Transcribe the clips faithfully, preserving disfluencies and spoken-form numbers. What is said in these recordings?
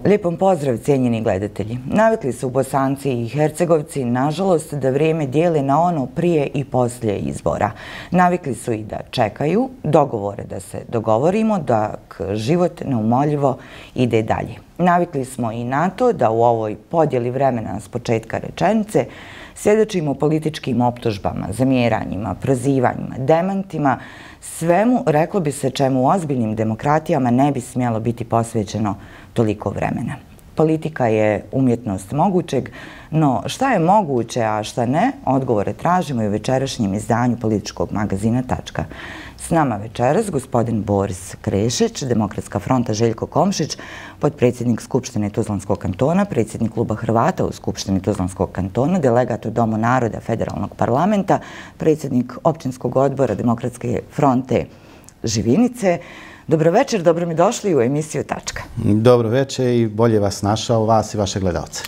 Lijepom pozdrav, cijenjeni gledatelji. Navikli su Bosanci i Hercegovci, nažalost, da vrijeme dijele na ono prije i poslije izbora. Navikli su i da čekaju dogovore, da se dogovorimo, dok život neumoljivo ide dalje. Navikli smo i na to da u ovoj podjeli vremena s početka rečenice svjedočimo političkim optužbama, zamjeranjima, prozivanjima, demantima, svemu, reklo bi se, čemu u ozbiljnim demokratijama ne bi smjelo biti posvećeno toliko vremena. Politika je umjetnost mogućeg, no šta je moguće, a šta ne, odgovore tražimo i u večerašnjem izdanju političkog magazina Tačka. S nama večeras gospodin Boris Krešić, Demokratska fronta Željko Komšić, potpredsjednik Skupštine Tuzlanskog kantona, predsjednik Kluba Hrvata u Skupštini Tuzlanskog kantona, delegat u Domu naroda Federalnog parlamenta, predsjednik Općinskog odbora Demokratske fronte Živinice. Dobro večer, dobro mi došli u emisiju Tačka. Dobro večer i bolje vas našao, vas i vaše gledalce.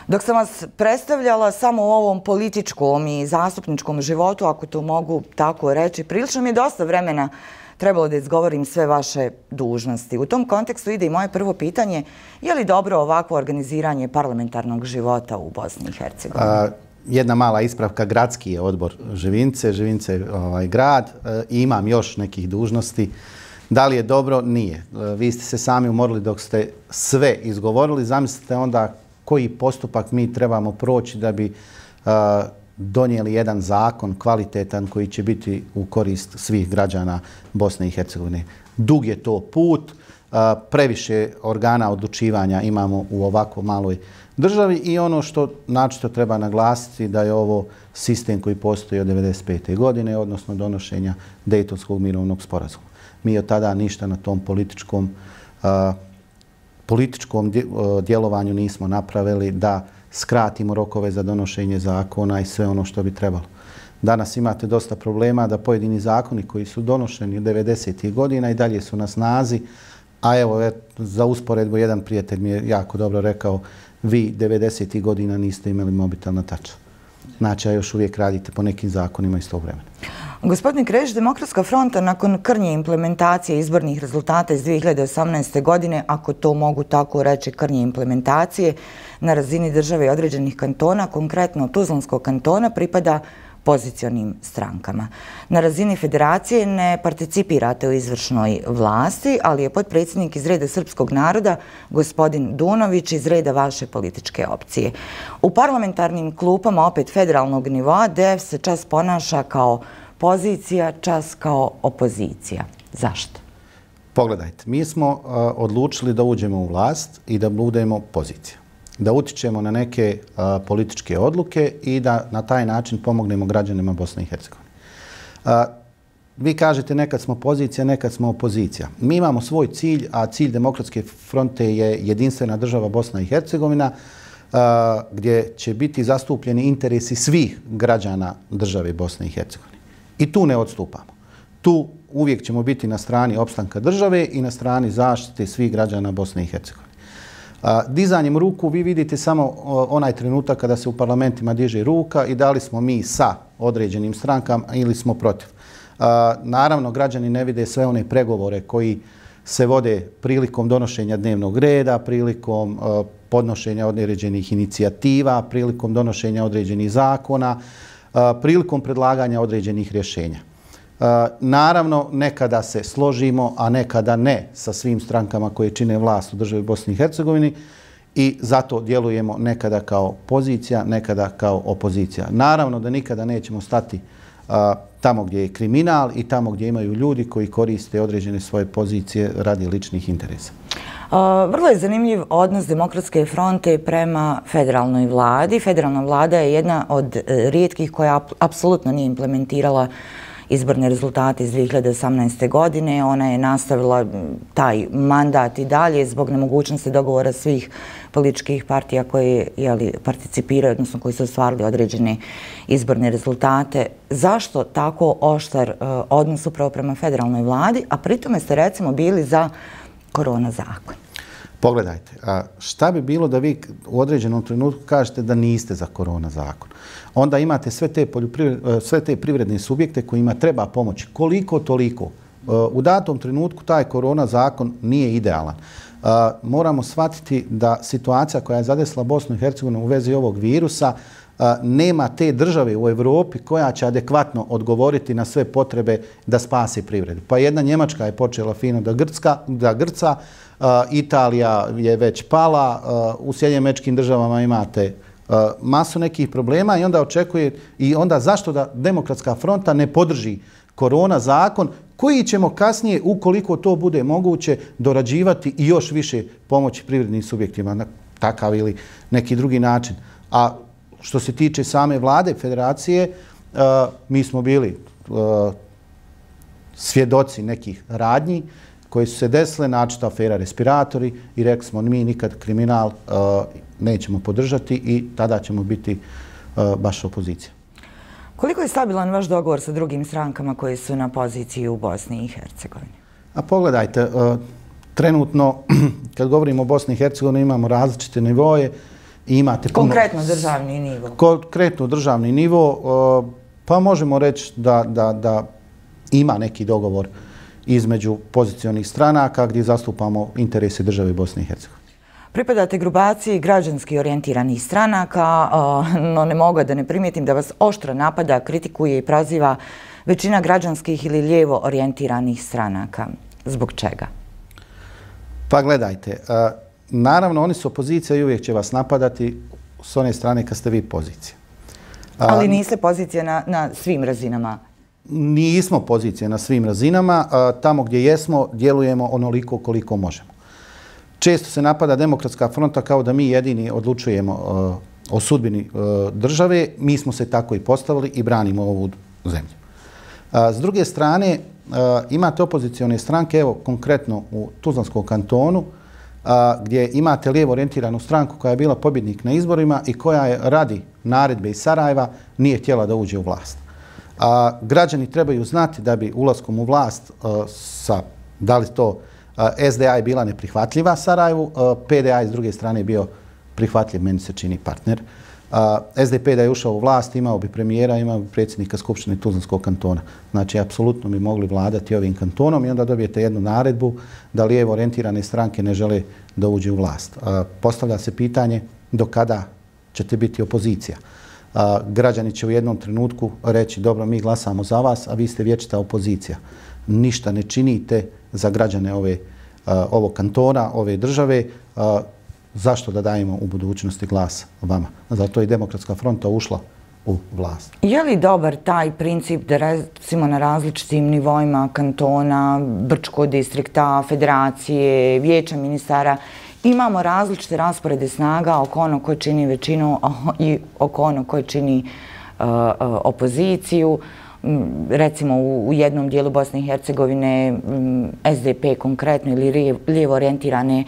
Dok sam vas predstavljala samo u ovom političkom i zastupničkom životu, ako to mogu tako reći, prilično mi je dosta vremena trebalo da izgovorim sve vaše dužnosti. U tom kontekstu ide i moje prvo pitanje, je li dobro ovakvo organiziranje parlamentarnog života u Bosni i Hercegovini? Jedna mala ispravka, gradski je odbor Živinice, Živinice je ovaj, grad i imam još nekih dužnosti. Da li je dobro? Nije. Vi ste se sami umorili dok ste sve izgovorili. Zamislite onda koji postupak mi trebamo proći da bi uh, donijeli jedan zakon kvalitetan koji će biti u korist svih građana Bosne i Hercegovine. Dug je to put, uh, previše organa odlučivanja imamo u ovako maloj državi i ono što načito treba naglasiti da je ovo sistem koji postoji od devedeset pete godine, odnosno donošenja Dejtonskog mirovnog sporazuma. Mi od tada ništa na tom političkom uh, političkom djelovanju nismo napravili da skratimo rokove za donošenje zakona i sve ono što bi trebalo. Danas imate dosta problema da pojedini zakoni koji su donošeni u devedesetih godina i dalje su na snazi, a evo za usporedbu jedan prijatelj mi je jako dobro rekao, vi devedesetih godina niste imali mobitel na taču. Znači, a još uvijek radite po nekim zakonima iz tog vremena. Gospodin Krešić, Demokratska fronta nakon krnje implementacije izbornih rezultata iz dvije hiljade osamnaeste. godine, ako to mogu tako reći, krnje implementacije na razini države i određenih kantona, konkretno Tuzlanskog kantona, pripada pozicionim strankama. Na razini federacije ne participirate u izvršnoj vlasti, ali je potpredsjednik iz reda srpskog naroda, gospodin Dunović, iz reda vaše političke opcije. U parlamentarnim klupama opet federalnog nivoa D F se čas ponaša kao pozicija, čas kao opozicija. Zašto? Pogledajte, mi smo uh, odlučili da uđemo u vlast i da budemo pozicija. Da utičemo na neke uh, političke odluke i da na taj način pomognemo građanima Bosne i Hercegovine. Uh, vi kažete nekad smo pozicija, nekad smo opozicija. Mi imamo svoj cilj, a cilj Demokratske fronte je jedinstvena država Bosna i Hercegovina, uh, gdje će biti zastupljeni interesi svih građana države Bosne i Hercegovine. I tu ne odstupamo. Tu uvijek ćemo biti na strani opstanka države i na strani zaštite svih građana Bosne i Hercegovine. Dizanjem ruku vi vidite samo onaj trenutak kada se u parlamentima diže ruka i da li smo mi sa određenim strankama ili smo protiv. Naravno, građani ne vide sve one pregovore koji se vode prilikom donošenja dnevnog reda, prilikom podnošenja određenih inicijativa, prilikom donošenja određenih zakona, prilikom predlaganja određenih rješenja. Naravno, nekada se složimo, a nekada ne sa svim strankama koje čine vlast u državi Bosni i Hercegovini i zato djelujemo nekada kao pozicija, nekada kao opozicija. Naravno da nikada nećemo stati tamo gdje je kriminal i tamo gdje imaju ljudi koji koriste određene svoje pozicije radi ličnih interesa. Vrlo je zanimljiv odnos Demokratske fronte prema federalnoj vladi. Federalna vlada je jedna od rijetkih koja apsolutno nije implementirala izborne rezultate iz dvije hiljade osamnaeste. godine. Ona je nastavila taj mandat i dalje zbog nemogućnosti dogovora svih političkih partija koje jeli, participiraju, odnosno koji su ostvarili određene izborne rezultate. Zašto tako oštar uh, odnos upravo prema federalnoj vladi, a pritome ste recimo bili za korona zakon? Pogledajte, a šta bi bilo da vi u određenom trenutku kažete da niste za korona zakon? Onda imate sve te, sve te privredne subjekte kojima treba pomoći koliko toliko U datom trenutku taj korona zakon nije idealan. Moramo shvatiti da situacija koja je zadesila Bosnu i Hercegovinu u vezi ovog virusa nema te države u Evropi koja će adekvatno odgovoriti na sve potrebe da spasi privredu. Pa jedna Njemačka je počela fino da, grcka, da grca, Italija je već pala, u Sjedinjenim Američkim Državama imate masu nekih problema i onda očekuje i onda zašto da Demokratska fronta ne podrži korona zakon koji ćemo kasnije, ukoliko to bude moguće, dorađivati i još više pomoći privrednim subjektima na takav ili neki drugi način. A što se tiče same vlade federacije, mi smo bili svjedoci nekih radnji koji su se desile, načita afera respiratori i rekli smo mi nikad kriminal nećemo podržati i tada ćemo biti baš opozicija. Koliko je stabilan vaš dogovor sa drugim strankama koje su na poziciji u Bosni i Hercegovini? A pogledajte, trenutno kad govorimo o Bosni i Hercegovini imamo različite nivoje i imate... Konkretno državni nivo. Konkretno državni nivo, pa možemo reći da, da, da ima neki dogovor između pozicionih stranaka gdje zastupamo interese države Bosne i Hercegovine. Pripadate grupaciji građanski orijentiranih stranaka, no ne mogu da ne primijetim da vas oštro napada, kritikuje i proziva većina građanskih ili lijevo orijentiranih stranaka. Zbog čega? Pa gledajte, naravno oni su opozicija i uvijek će vas napadati s one strane kad ste vi pozicija. Ali niste pozicija na, na svim razinama? Nismo pozicije na svim razinama. Tamo gdje jesmo, djelujemo onoliko koliko možemo. Često se napada Demokratska fronta kao da mi jedini odlučujemo uh, o sudbini uh, države. Mi smo se tako i postavili i branimo ovu zemlju. Uh, s druge strane, uh, imate opozicione stranke, evo konkretno u Tuzlanskom kantonu, uh, gdje imate lijevo orijentiranu stranku koja je bila pobjednik na izborima i koja je radi naredbe iz Sarajeva nije htjela da uđe u vlast. Uh, građani trebaju znati da bi ulaskom u vlast uh, sa, da li to S D A je bila neprihvatljiva Sarajevu, P D A s druge strane je bio prihvatljiv, meni se čini, partner. S D P da je ušao u vlast, imao bi premijera, imao bi predsjednika Skupštine Tuzlanskog kantona. Znači, apsolutno bi mogli vladati ovim kantonom i onda dobijete jednu naredbu da lijevo orijentirane stranke ne žele da uđe u vlast. Postavlja se pitanje do kada ćete biti opozicija. Građani će u jednom trenutku reći dobro, mi glasamo za vas, a vi ste vječita opozicija. Ništa ne činite za građane ove, uh, ovog kantona, ove države, uh, zašto da dajemo u budućnosti glas vama? Zato je Demokratska fronta ušla u vlast. Je li dobar taj princip da recimo na različitim nivoima kantona, Brčkog distrikta, federacije, vijeća ministara imamo različite rasporede snaga oko ono ko čini većinu i oko ono ko čini uh, uh, opoziciju? Recimo u jednom dijelu Bosne i Hercegovine S D P konkretno ili lijevo orijentirane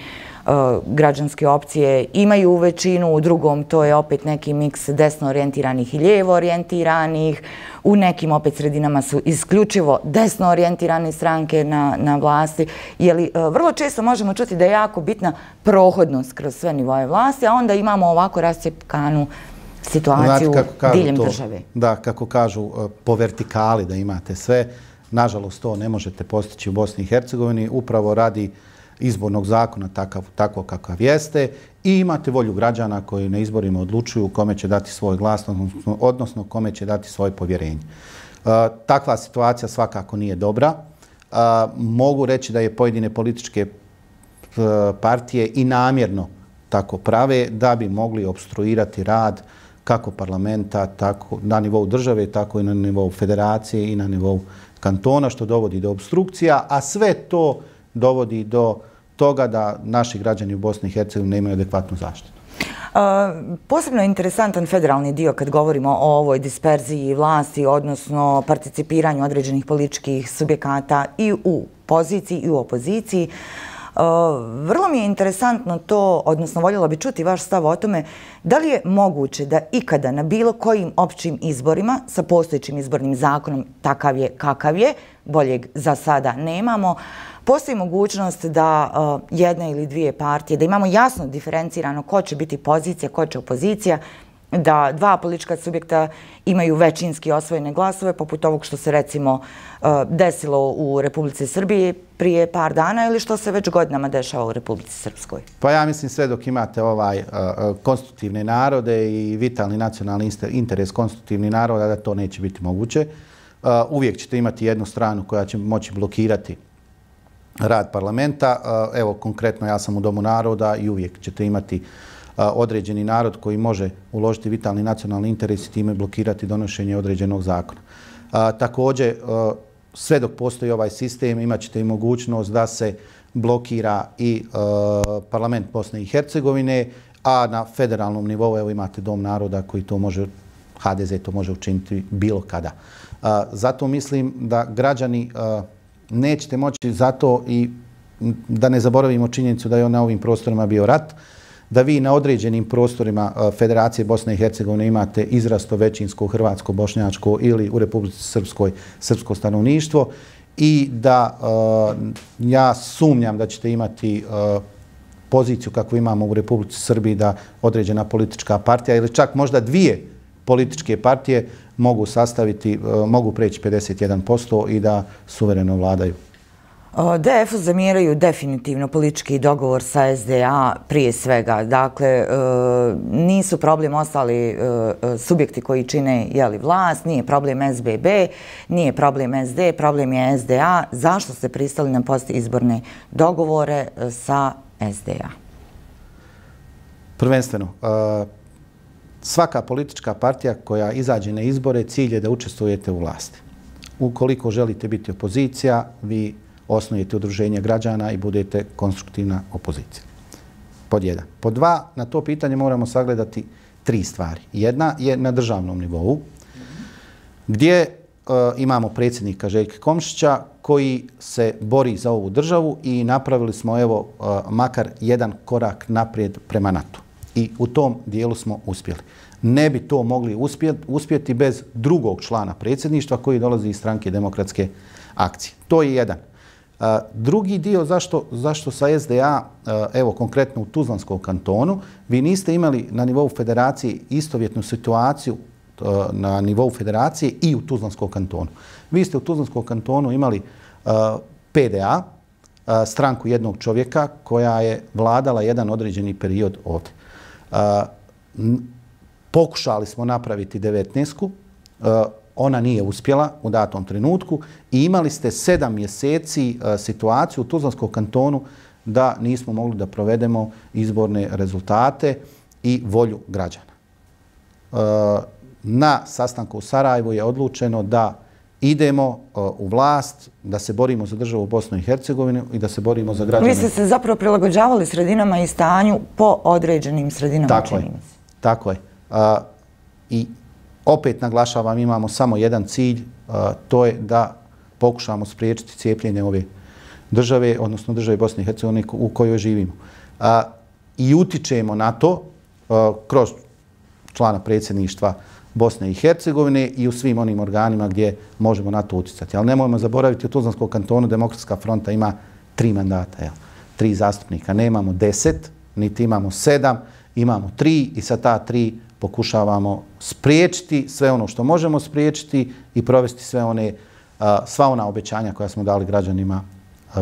građanske opcije imaju većinu, u drugom to je opet neki miks desno orijentiranih i lijevo orijentiranih, u nekim opet sredinama su isključivo desno orijentirane stranke na, na vlasti. Jeli, vrlo često možemo čuti da je jako bitna prohodnost kroz sve nivoje vlasti, a onda imamo ovako rascjepkanu situaciju diljem države. Da, kako kažu po vertikali da imate sve. Nažalost, to ne možete postići u Bosni i Hercegovini. Upravo radi izbornog zakona takav, tako kakav jeste i imate volju građana koji na izborima odlučuju kome će dati svoj glas, odnosno, odnosno kome će dati svoje povjerenje. Uh, takva situacija svakako nije dobra. Uh, mogu reći da je pojedine političke uh, partije i namjerno tako prave da bi mogli obstruirati rad kako parlamenta, tako na nivou države, tako i na nivou federacije i na nivou kantona, što dovodi do obstrukcija, a sve to dovodi do toga da naši građani u Bosni i Hercegovini nemaju adekvatnu zaštitu. Uh, posebno je interesantan federalni dio kad govorimo o ovoj disperziji vlasti, odnosno participiranju određenih političkih subjekata i u poziciji i u opoziciji. Uh, vrlo mi je interesantno to, odnosno voljela bi čuti vaš stav o tome, da li je moguće da ikada na bilo kojim općim izborima sa postojećim izbornim zakonom, takav je kakav je, boljeg za sada nemamo, postoji mogućnost da uh, jedna ili dvije partije, da imamo jasno diferencirano ko će biti pozicija, ko će opozicija, da dva politička subjekta imaju većinski osvojene glasove, poput ovog što se recimo desilo u Republici Srbiji prije par dana ili što se već godinama dešava u Republici Srpskoj? Pa ja mislim sve dok imate ovaj konstitutivne narode i vitalni nacionalni interes konstitutivnih naroda da to neće biti moguće. Uvijek ćete imati jednu stranu koja će moći blokirati rad parlamenta. Evo, konkretno ja sam u Domu naroda i uvijek ćete imati određeni narod koji može uložiti vitalni nacionalni interes i time blokirati donošenje određenog zakona. Također, sve dok postoji ovaj sistem, imat ćete i mogućnost da se blokira i parlament Bosne i Hercegovine, a na federalnom nivou evo imate Dom naroda koji to može, H D Z to može učiniti bilo kada. Zato mislim da građani nećete moći zato i da ne zaboravimo činjenicu da je na ovim prostorima bio rat, da vi na određenim prostorima Federacije Bosne i Hercegovine imate izrasto većinsko hrvatsko-bošnjačko ili u Republici Srpskoj srpsko stanovništvo i da ja sumnjam da ćete imati poziciju kakvu imamo u Republici Srbiji da određena politička partija ili čak možda dvije političke partije mogu sastaviti, mogu preći pedeset jedan posto i da suvereno vladaju. D F-u zamjeraju definitivno politički dogovor sa S D A prije svega. Dakle, nisu problem ostali subjekti koji čine vlast, nije problem S B B, nije problem S D, problem je S D A. Zašto ste pristali na postizborne dogovore sa S D A? Prvenstveno, svaka politička partija koja izađe na izbore, cilj je da učestvujete u vlasti. Ukoliko želite biti opozicija, vi osnujete udruženje građana i budete konstruktivna opozicija. Pod jedan. Pod dva, na to pitanje moramo sagledati tri stvari. Jedna je na državnom nivou, gdje imamo predsjednika Željka Komšića koji se bori za ovu državu i napravili smo evo makar jedan korak naprijed prema NATO. I u tom dijelu smo uspjeli. Ne bi to mogli uspjeti bez drugog člana predsjedništva koji dolazi iz stranke Demokratske akcije. To je jedan. Drugi dio zašto, zašto sa S D A, evo konkretno u Tuzlanskom kantonu, vi niste imali na nivou federacije istovjetnu situaciju na nivou federacije i u Tuzlanskom kantonu. Vi ste u Tuzlanskom kantonu imali P D A, stranku jednog čovjeka koja je vladala jedan određeni period ovdje. Pokušali smo napraviti devetnaestku, ona nije uspjela u datom trenutku i imali ste sedam mjeseci situaciju u Tuzlanskom kantonu da nismo mogli da provedemo izborne rezultate i volju građana. Na sastanku u Sarajevu je odlučeno da idemo u vlast, da se borimo za državu Bosnu i Hercegovinu i da se borimo za građane. Vi ste se zapravo prilagođavali sredinama i stanju po određenim sredinama. Tako je. Tako je. I opet naglašavam, imamo samo jedan cilj, to je da pokušamo spriječiti cijepljenje ove države, odnosno države Bosne i Hercegovine u kojoj živimo. I utičemo na to kroz člana predsjedništva Bosne i Hercegovine i u svim onim organima gdje možemo na to uticati. Ali nemojmo zaboraviti, u Tuzlanskom kantonu Demokratska fronta ima tri mandata, tri zastupnika. Nemamo deset, niti imamo sedam, imamo tri i sa ta tri pokušavamo spriječiti sve ono što možemo spriječiti i provesti sve one, sva ona obećanja koja smo dali građanima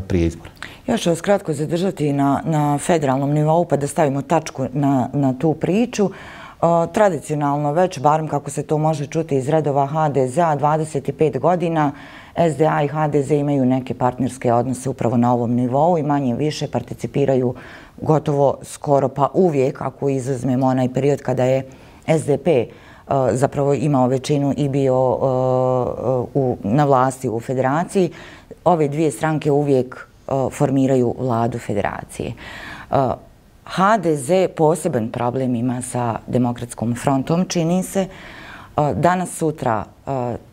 prije izbora. Ja ću vas kratko zadržati na, na federalnom nivou pa da stavimo tačku na, na tu priču. Tradicionalno već, barem kako se to može čuti iz redova H D Z-a, dvadeset pet godina S D A i H D Z imaju neke partnerske odnose upravo na ovom nivou i manje više participiraju gotovo skoro pa uvijek, ako izuzmemo onaj period kada je S D P zapravo imao većinu i bio u, na vlasti u federaciji. Ove dvije stranke uvijek formiraju vladu federacije. H D Z poseban problem ima sa Demokratskom frontom, čini se. Danas, sutra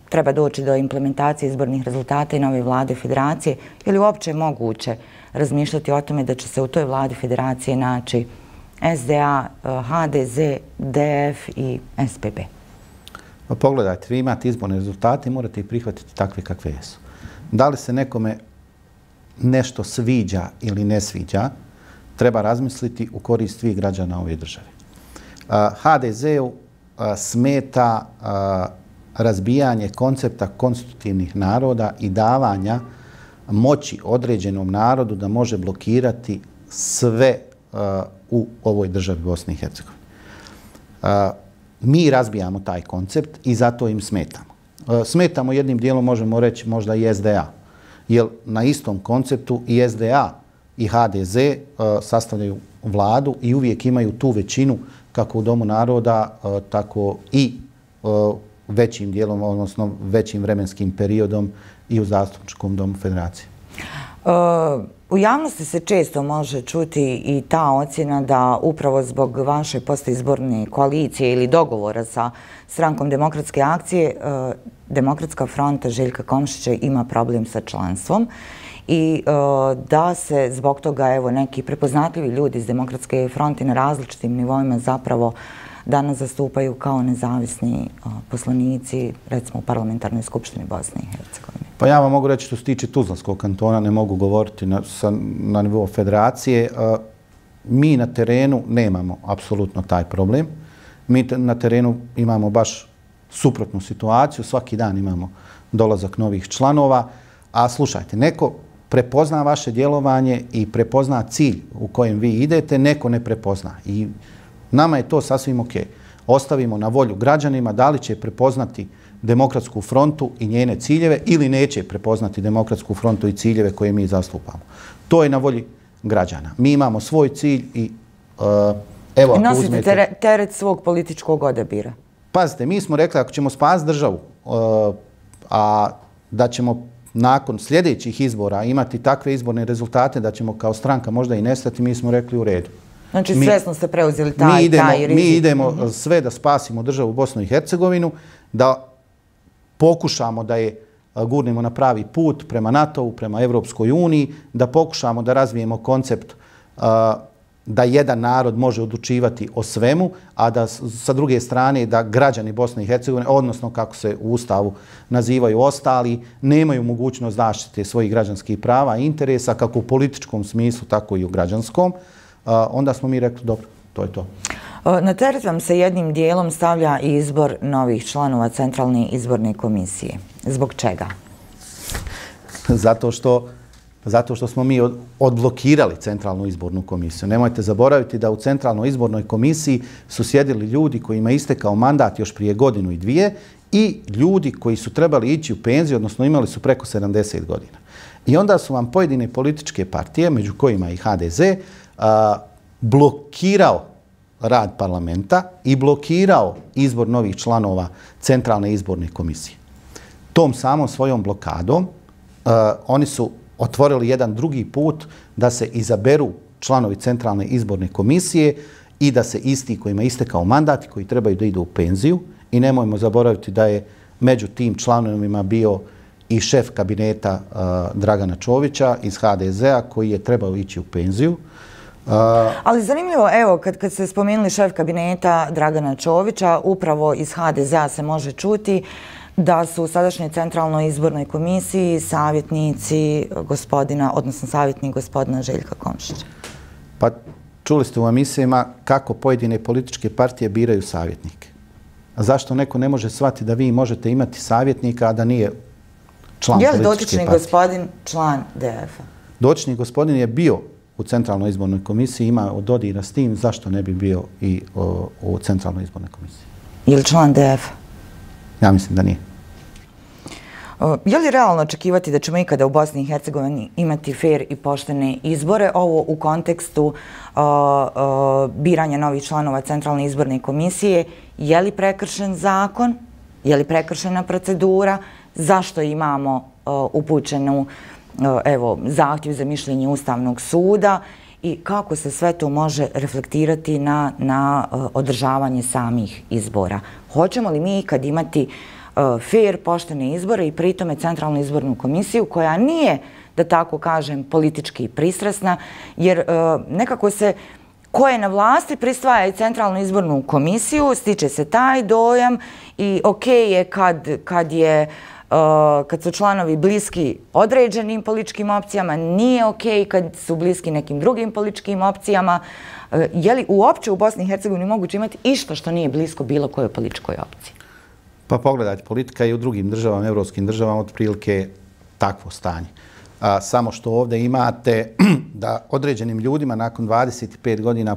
treba doći do implementacije izbornih rezultata i nove vlade federacije. Je li uopće moguće razmišljati o tome da će se u toj vladi federacije naći S D A, H D Z, D F i S P B? Pa pogledajte, vi imate izborne rezultate i morate ih prihvatiti takve kakve jesu. Da li se nekome nešto sviđa ili ne sviđa, treba razmisliti u korist svih građana ove države. H D Z-u smeta razbijanje koncepta konstitutivnih naroda i davanja moći određenom narodu da može blokirati sve u ovoj državi Bosni i Hercegovini. Mi razbijamo taj koncept i zato im smetamo. Smetamo jednim dijelom, možemo reći, možda i S D A. Jer na istom konceptu i S D A i H D Z sastavljaju vladu i uvijek imaju tu većinu kako u Domu naroda, tako i većim dijelom, odnosno većim vremenskim periodom i u Zastupničkom domu Federacije. U javnosti se često može čuti i ta ocjena da upravo zbog vaše postizborne koalicije ili dogovora sa Strankom demokratske akcije, Demokratska fronta Željka Komšića ima problem sa članstvom i da se zbog toga evo neki prepoznatljivi ljudi iz Demokratske fronte na različitim nivoima zapravo danas zastupaju kao nezavisni poslanici, recimo u Parlamentarnoj skupštini Bosne i Hercegovine. Pa ja vam mogu reći što se tiče Tuzlanskog kantona, ne mogu govoriti na, sa, na nivou federacije. Mi na terenu nemamo apsolutno taj problem. Mi na terenu imamo baš suprotnu situaciju. Svaki dan imamo dolazak novih članova. A slušajte, neko prepozna vaše djelovanje i prepozna cilj u kojem vi idete, neko ne prepozna. I nama je to sasvim ok. Ostavimo na volju građanima da li će prepoznati Demokratsku frontu i njene ciljeve ili neće prepoznati Demokratsku frontu i ciljeve koje mi zastupamo. To je na volji građana. Mi imamo svoj cilj i uh, evo ako nosite uzmete... tere, teret svog političkog odabira. Pazite, mi smo rekli ako ćemo spasiti državu, uh, a da ćemo nakon sljedećih izbora imati takve izborne rezultate da ćemo kao stranka možda i nestati, mi smo rekli u redu. Znači svjesno ste preuzeli taj, mi idemo, taj rizik. Mi idemo mm-hmm. sve da spasimo državu Bosnu i Hercegovinu, da pokušamo da je gurnemo na pravi put prema NATO-u, prema Evropskoj uniji, da pokušamo da razvijemo koncept uh, da jedan narod može odlučivati o svemu, a da sa druge strane da građani Bosne i Hercegovine, odnosno kako se u Ustavu nazivaju ostali, nemaju mogućnost zaštite svojih građanskih prava i interesa, kako u političkom smislu, tako i u građanskom. Uh, onda smo mi rekli, dobro, to je to. Na teret vam se jednim dijelom stavlja i izbor novih članova Centralne izborne komisije. Zbog čega? Zato što, zato što smo mi od, odblokirali Centralnu izbornu komisiju. Nemojte zaboraviti da u Centralnoj izbornoj komisiji su sjedili ljudi kojima je istekao mandat još prije godinu i dvije i ljudi koji su trebali ići u penziju, odnosno imali su preko sedamdeset godina. I onda su vam pojedine političke partije, među kojima i H D Z, a, blokirao rad parlamenta i blokirao izbor novih članova Centralne izborne komisije. Tom samom svojom blokadom uh, oni su otvorili jedan drugi put da se izaberu članovi Centralne izborne komisije i da se isti kojima je istekao mandat i koji trebaju da idu u penziju. I nemojmo zaboraviti da je među tim članovima bio i šef kabineta uh, Dragana Čovića iz H D Z-a koji je trebao ići u penziju. Uh, Ali zanimljivo, evo, kad, kad ste spomenuli šef kabineta Dragana Čovića, upravo iz H D Z-a se može čuti da su u sadašnjoj Centralnoj izbornoj komisiji savjetnici gospodina, odnosno savjetnik gospodina Željka Komšića. Pa čuli ste u emisijama kako pojedine političke partije biraju savjetnike. A zašto neko ne može shvatiti da vi možete imati savjetnika, a da nije član političke partije? Je li dotični gospodin član D F-a? Dotični gospodin je bio u Centralnoj izbornoj komisiji, ima dodira s tim, zašto ne bi bio i o, u Centralnoj izbornoj komisiji? Je li član D F-a? Ja mislim da nije. Je li realno očekivati da ćemo ikada u Bosni i Hercegovini imati fair i poštene izbore? Ovo u kontekstu uh, uh, biranja novih članova Centralne izborne komisije. Je li prekršen zakon? Je li prekršena procedura? Zašto imamo uh, upućenu uh, evo, zahtjev za mišljenje Ustavnog suda? I kako se sve to može reflektirati na, na uh, održavanje samih izbora? Hoćemo li mi ikad imati fair, poštene izbore i pritome Centralnu izbornu komisiju koja nije, da tako kažem, politički pristrasna, jer nekako se ko je na vlasti pristvaja i Centralnu izbornu komisiju, stiče se taj dojam i ok je kad, kad je kad su članovi bliski određenim političkim opcijama, nije okej kad su bliski nekim drugim političkim opcijama. Je li uopće u Bosni i Hercegovini moguće imati išta što nije blisko bilo kojoj političkoj opciji? Pa pogledajte, politika je u drugim državama, evropskim državama, otprilike takvo stanje. A, samo što ovdje imate da određenim ljudima nakon dvadeset pet godina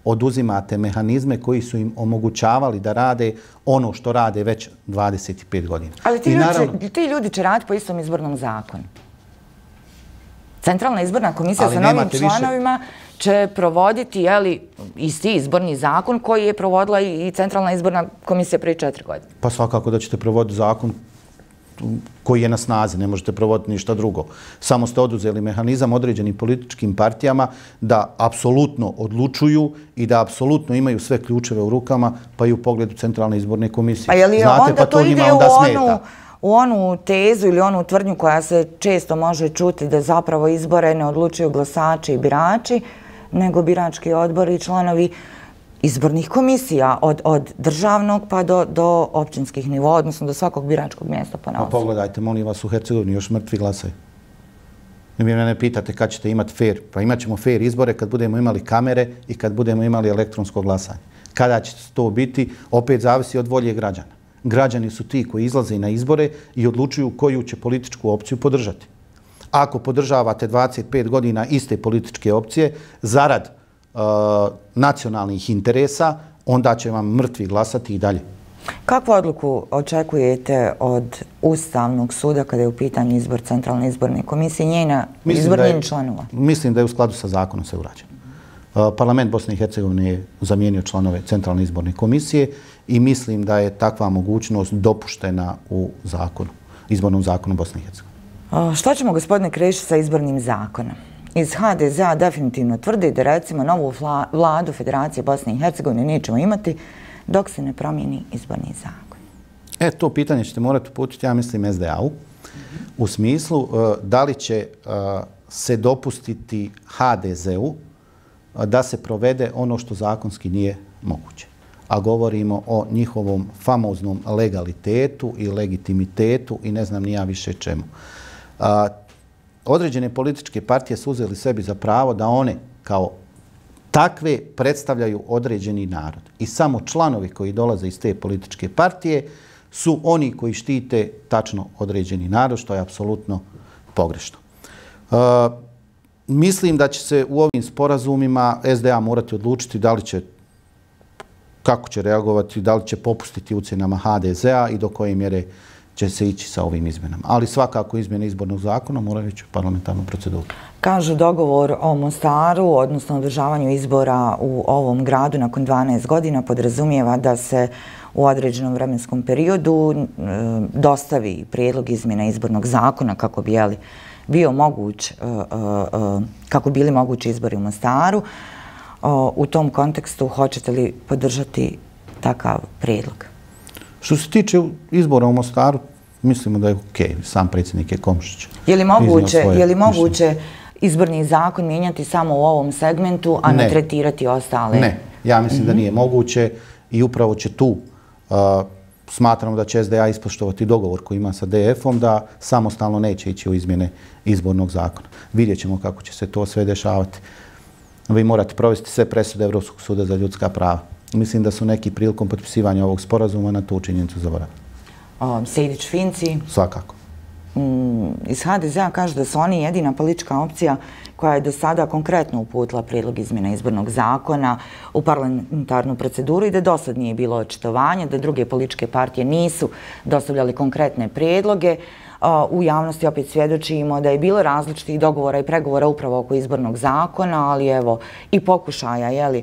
oduzimate mehanizme koji su im omogućavali da rade ono što rade već dvadeset pet godina. Ali ti, naravno, ljudi, ti ljudi će raditi po istom izbornom zakonu. Centralna izborna komisija sa novim članovima više... će provoditi jeli, isti izborni zakon koji je provodila i Centralna izborna komisija prije četiri godine. Pa svakako da ćete provoditi zakon koji je na snazi, ne možete provoditi ništa drugo. Samo ste oduzeli mehanizam određenim političkim partijama da apsolutno odlučuju i da apsolutno imaju sve ključeve u rukama, pa i u pogledu Centralne izborne komisije. A je li Znate, onda pa to, to ide onda u, onu, u onu tezu ili onu tvrdnju koja se često može čuti da zapravo izbore ne odlučuju glasači i birači, nego birački odbori i članovi izbornih komisija od, od državnog pa do, do općinskih nivoa, odnosno do svakog biračkog mjesta po naosu. Pa pogledajte, molim vas, u Hercegovini još mrtvi glasaju. I mi mene pitate kad ćete imati fair. Pa imat ćemo fair izbore kad budemo imali kamere i kad budemo imali elektronsko glasanje. Kada će to biti, opet zavisi od volje građana. Građani su ti koji izlaze na izbore i odlučuju koju će političku opciju podržati. Ako podržavate dvadeset pet godina iste političke opcije, zarad uh, nacionalnih interesa, onda će vam mrtvi glasati i dalje. Kakvu odluku očekujete od Ustavnog suda kada je u pitanju izbor Centralne izborne komisije i njena izbornih članova? Mislim da je u skladu sa zakonom sve urađeno. Uh, Parlament Bosne i Hercegovine je zamijenio članove Centralne izborne komisije i mislim da je takva mogućnost dopuštena u zakonu, izbornom zakonu Bosne i Hercegovine. Što ćemo, gospodine Krešić, sa izbornim zakonom? Iz ha de zea definitivno tvrdi da recimo novu vladu Federacije Bosne i Hercegovine nećemo imati dok se ne promijeni izborni zakon. E, to pitanje ćete morati uputiti, ja mislim, es de a-u u smislu uh, da li će uh, se dopustiti ha de zeu uh, da se provede ono što zakonski nije moguće. A govorimo o njihovom famoznom legalitetu i legitimitetu i ne znam ni ja više čemu. A, određene političke partije su uzeli sebi za pravo da one kao takve predstavljaju određeni narod. I samo članovi koji dolaze iz te političke partije su oni koji štite tačno određeni narod, što je apsolutno pogrešno. A, mislim da će se u ovim sporazumima es de a morati odlučiti da li će, kako će reagovati, da li će popustiti ucjenama ha de zea i do koje mjere će se ići sa ovim izmjenama. Ali svakako izmjene izbornog zakona moraju ići u parlamentarnu proceduru. Kažu dogovor o Mostaru, odnosno održavanju izbora u ovom gradu nakon dvanaest godina podrazumijeva da se u određenom vremenskom periodu e, dostavi prijedlog izmjena izbornog zakona kako bi jeli, bio moguć, e, e, kako bili mogući izbori u Mostaru. O, u tom kontekstu hoćete li podržati takav prijedlog? Što se tiče izbora u Mostaru, mislimo da je okej. Okay. Sam predsjednik je Komšić. Je li moguće, je li moguće izborni zakon mijenjati samo u ovom segmentu, a ne, ne tretirati ostale? Ne, ja mislim mm-hmm. da nije moguće i upravo će tu, uh, smatramo da će es de a ispoštovati dogovor koji ima sa de efom, da samostalno neće ići u izmjene izbornog zakona. Vidjet ćemo kako će se to sve dešavati. Vi morate provesti sve presude Evropskog suda za ljudska prava. Mislim da su neki prilikom potpisivanja ovog sporazuma na tu činjenicu zaboravili. Sejdić Finci? Svakako. Mm, iz ha de zea kažu da su oni jedina politička opcija koja je do sada konkretno uputila prijedlog izmjena izbornog zakona u parlamentarnu proceduru i da do sad nije bilo očitovanja, da druge političke partije nisu dostavljali konkretne prijedloge. U javnosti opet svjedočimo da je bilo različitih dogovora i pregovora upravo oko izbornog zakona, ali evo i pokušaja, jeli,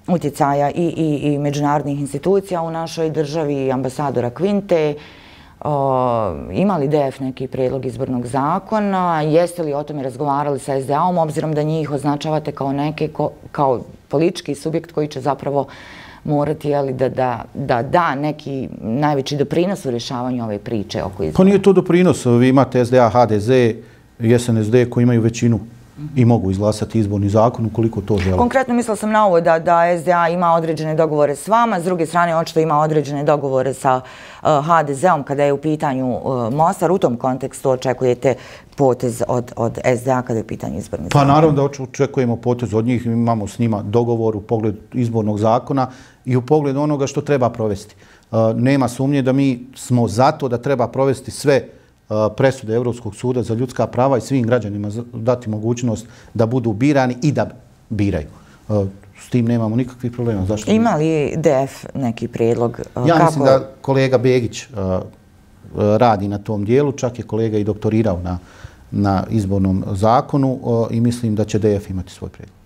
utjecaja i, i, i međunarodnih institucija u našoj državi, ambasadora Kvinte. O, ima li de ef neki prijedlog izbornog zakona? Jeste li o tome razgovarali sa es de a-om, obzirom da njih označavate kao neke, ko, kao politički subjekt koji će zapravo morati jeli, da, da, da da neki najveći doprinos u rješavanju ove priče oko izbora? Pa nije to doprinos. Vi imate es de a, ha de ze i es en es de koji imaju većinu i mogu izglasati izborni zakon ukoliko to žele. Konkretno mislila sam na ovo da, da S D A ima određene dogovore s vama, s druge strane očito ima određene dogovore sa uh, H D Z-om kada je u pitanju uh, Mostar. U tom kontekstu očekujete potez od, od S D A kada je u pitanju izborni zakon? Pa naravno da očekujemo potez od njih, imamo s njima dogovor u pogledu izbornog zakona i u pogledu onoga što treba provesti. Uh, nema sumnje da mi smo zato da treba provesti sve presude Europskog suda za ljudska prava i svim građanima dati mogućnost da budu birani i da biraju. S tim nemamo nikakvih problema. Zašto? Ima li D F neki prijedlog? Ja kako... mislim da kolega Begić radi na tom dijelu, čak je kolega i doktorirao na, na izbornom zakonu i mislim da će D F imati svoj prijedlog.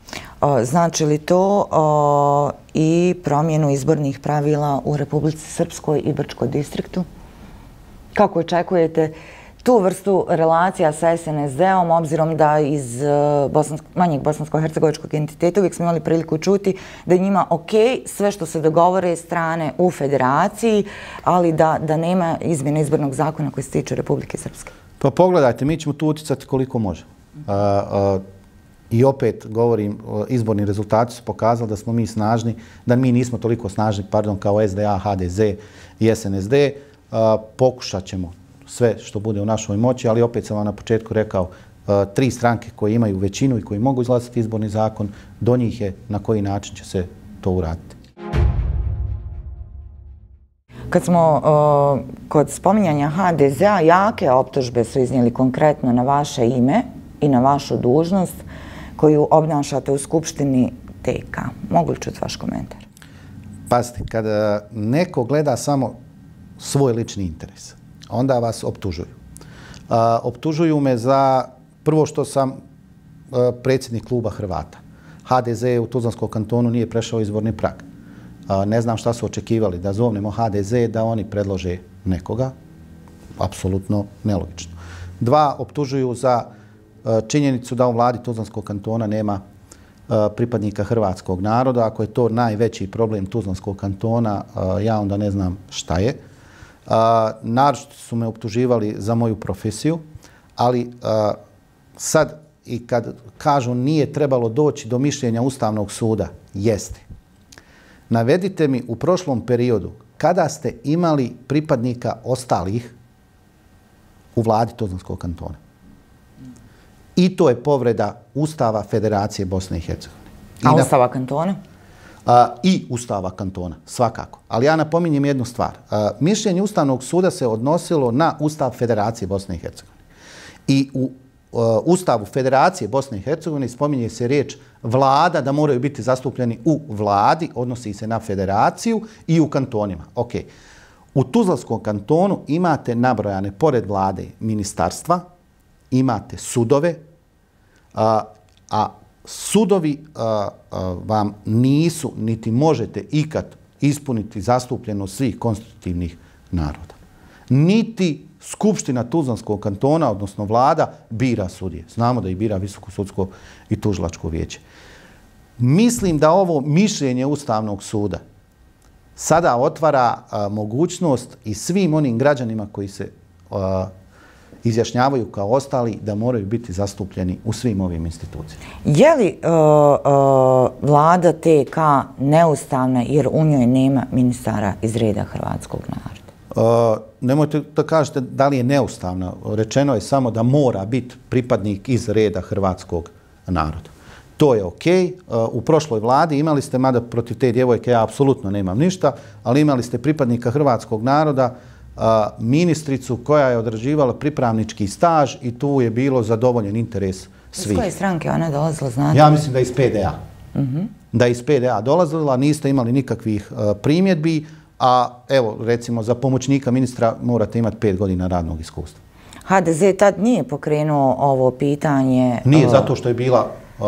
Znači li to o, i promjenu izbornih pravila u Republici Srpskoj i Brčkom distriktu? Kako očekujete tu vrstu relacija sa S N S D-om, obzirom da iz bosansko, manjeg bosansko-hercegovičkog entiteta uvijek smo imali priliku čuti da je njima ok sve što se dogovore strane u federaciji, ali da, da nema izmjene izbornog zakona koji se tiče Republike Srpske? Pa pogledajte, mi ćemo tu uticati koliko može. A, a, I opet govorim, izborni rezultati su pokazali da smo mi snažni, da mi nismo toliko snažni, pardon, kao S D A, H D Z i S N S D. Uh, pokušat ćemo sve što bude u našoj moći, ali opet sam vam na početku rekao, uh, tri stranke koje imaju većinu i koji mogu izglasati izborni zakon, do njih je na koji način će se to uraditi. Kad smo uh, kod spominjanja H D Z-a, jake optužbe su iznijeli konkretno na vaše ime i na vašu dužnost koju obnašate u Skupštini T K. Mogu li čuti vaš komentar? Pazite, kada neko gleda samo svoj lični interes, onda vas optužuju. Uh, optužuju me za prvo što sam uh, predsjednik kluba Hrvata. H D Z u Tuzlanskom kantonu nije prešao izborni prag. Uh, ne znam šta su očekivali, da zovnemo H D Z, da oni predlože nekoga. Apsolutno nelogično. Dva, optužuju za uh, činjenicu da u vladi Tuzlanskog kantona nema uh, pripadnika hrvatskog naroda. Ako je to najveći problem Tuzlanskog kantona, uh, ja onda ne znam šta je. Uh, naročito su me optuživali za moju profesiju, ali uh, sad i kad kažu nije trebalo doći do mišljenja Ustavnog suda, jeste. Navedite mi u prošlom periodu kada ste imali pripadnika ostalih u vladi Tuzlanskog kantona. I to je povreda Ustava Federacije Bosne i Hercegovine. I A Ustava kantona? A, I Ustava kantona, svakako. Ali ja napominjem jednu stvar. A, mišljenje Ustavnog suda se odnosilo na Ustav Federacije Bosne i Hercegovine. I u a, Ustavu Federacije Bosne i Hercegovine spominje se riječ vlada, da moraju biti zastupljeni u vladi, odnosi se na federaciju i u kantonima. Ok. U Tuzlanskom kantonu imate nabrojane, pored vlade, ministarstva, imate sudove, a, a sudovi a, a, vam nisu, niti možete ikad ispuniti zastupljenost svih konstitutivnih naroda. Niti Skupština Tuzlanskog kantona, odnosno vlada, bira sudije. Znamo da ih bira Visoko sudsko i tužilačko vijeće. Mislim da ovo mišljenje Ustavnog suda sada otvara a, mogućnost i svim onim građanima koji se a, izjašnjavaju kao ostali da moraju biti zastupljeni u svim ovim institucijama. Je li uh, uh, vlada T K neustavna jer u njoj nema ministara iz reda hrvatskog naroda? Uh, nemojte da kažete da li je neustavna. Rečeno je samo da mora biti pripadnik iz reda hrvatskog naroda. To je ok. Uh, u prošloj vladi imali ste, mada protiv te djevojke ja apsolutno nemam ništa, ali imali ste pripadnika hrvatskog naroda, Uh, ministricu koja je odrađivala pripravnički staž i tu je bilo zadovoljen interes svih. Iz koje stranke ona dolazila, znate? Ja mislim da je iz P D A. Uh-huh. Da je iz P D A dolazila, niste imali nikakvih uh, primjedbi, a evo, recimo, za pomoćnika ministra morate imati pet godina radnog iskustva. H D Z tad nije pokrenuo ovo pitanje? Nije, uh... zato što je bila, uh,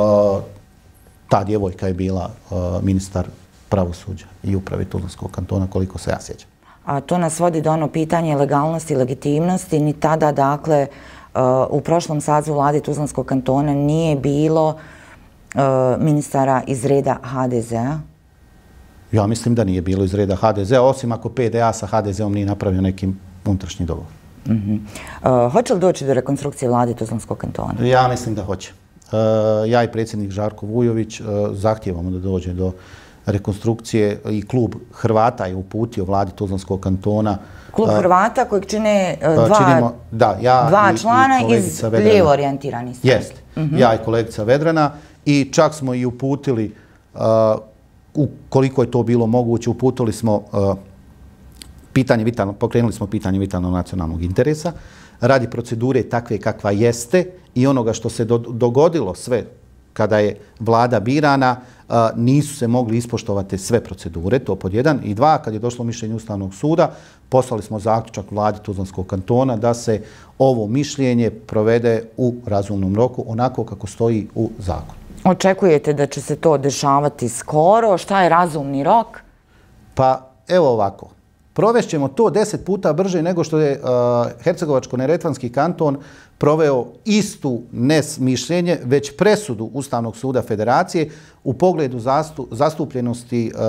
ta djevojka je bila uh, ministar pravosuđa i uprave Tuzlanskog kantona, koliko se ja sjećam. A to nas vodi do ono pitanje legalnosti i legitimnosti. Ni tada, dakle, u prošlom sazivu vlade Tuzlanskog kantona nije bilo ministara iz reda H D Z-a? Ja mislim da nije bilo iz reda H D Z-a, osim ako P D A sa H D Z-om nije napravio nekim unutrašnji dogovor. Uh-huh. Uh, hoće li doći do rekonstrukcije vlade Tuzlanskog kantona? Ja mislim da hoće. Uh, ja i predsjednik Žarko Vujović zahtijevamo da dođe do rekonstrukcije i klub Hrvata je uputio vladi Tuzlanskog kantona. Klub Hrvata kojeg čine dva, činimo, da, ja dva i, člana i iz lijevo orijentiranih stranaka. Jeste, mm-hmm. ja i kolegica Vedrana i čak smo i uputili, uh, ukoliko je to bilo moguće, uputili smo uh, pitanje vitalno, pokrenuli smo pitanje vitalnog nacionalnog interesa radi procedure takve kakva jeste i onoga što se do, dogodilo sve kada je vlada birana, a, nisu se mogli ispoštovati sve procedure, to pod jedan. I dva, kad je došlo mišljenje Ustavnog suda, poslali smo zaključak vladi Tuzlanskog kantona da se ovo mišljenje provede u razumnom roku, onako kako stoji u zakonu. Očekujete da će se to dešavati skoro? Šta je razumni rok? Pa evo ovako. Provešćemo to deset puta brže nego što je uh, Hercegovačko-neretvanski kanton proveo istu nes mišljenje, već presudu Ustavnog suda Federacije u pogledu zastu, zastupljenosti uh,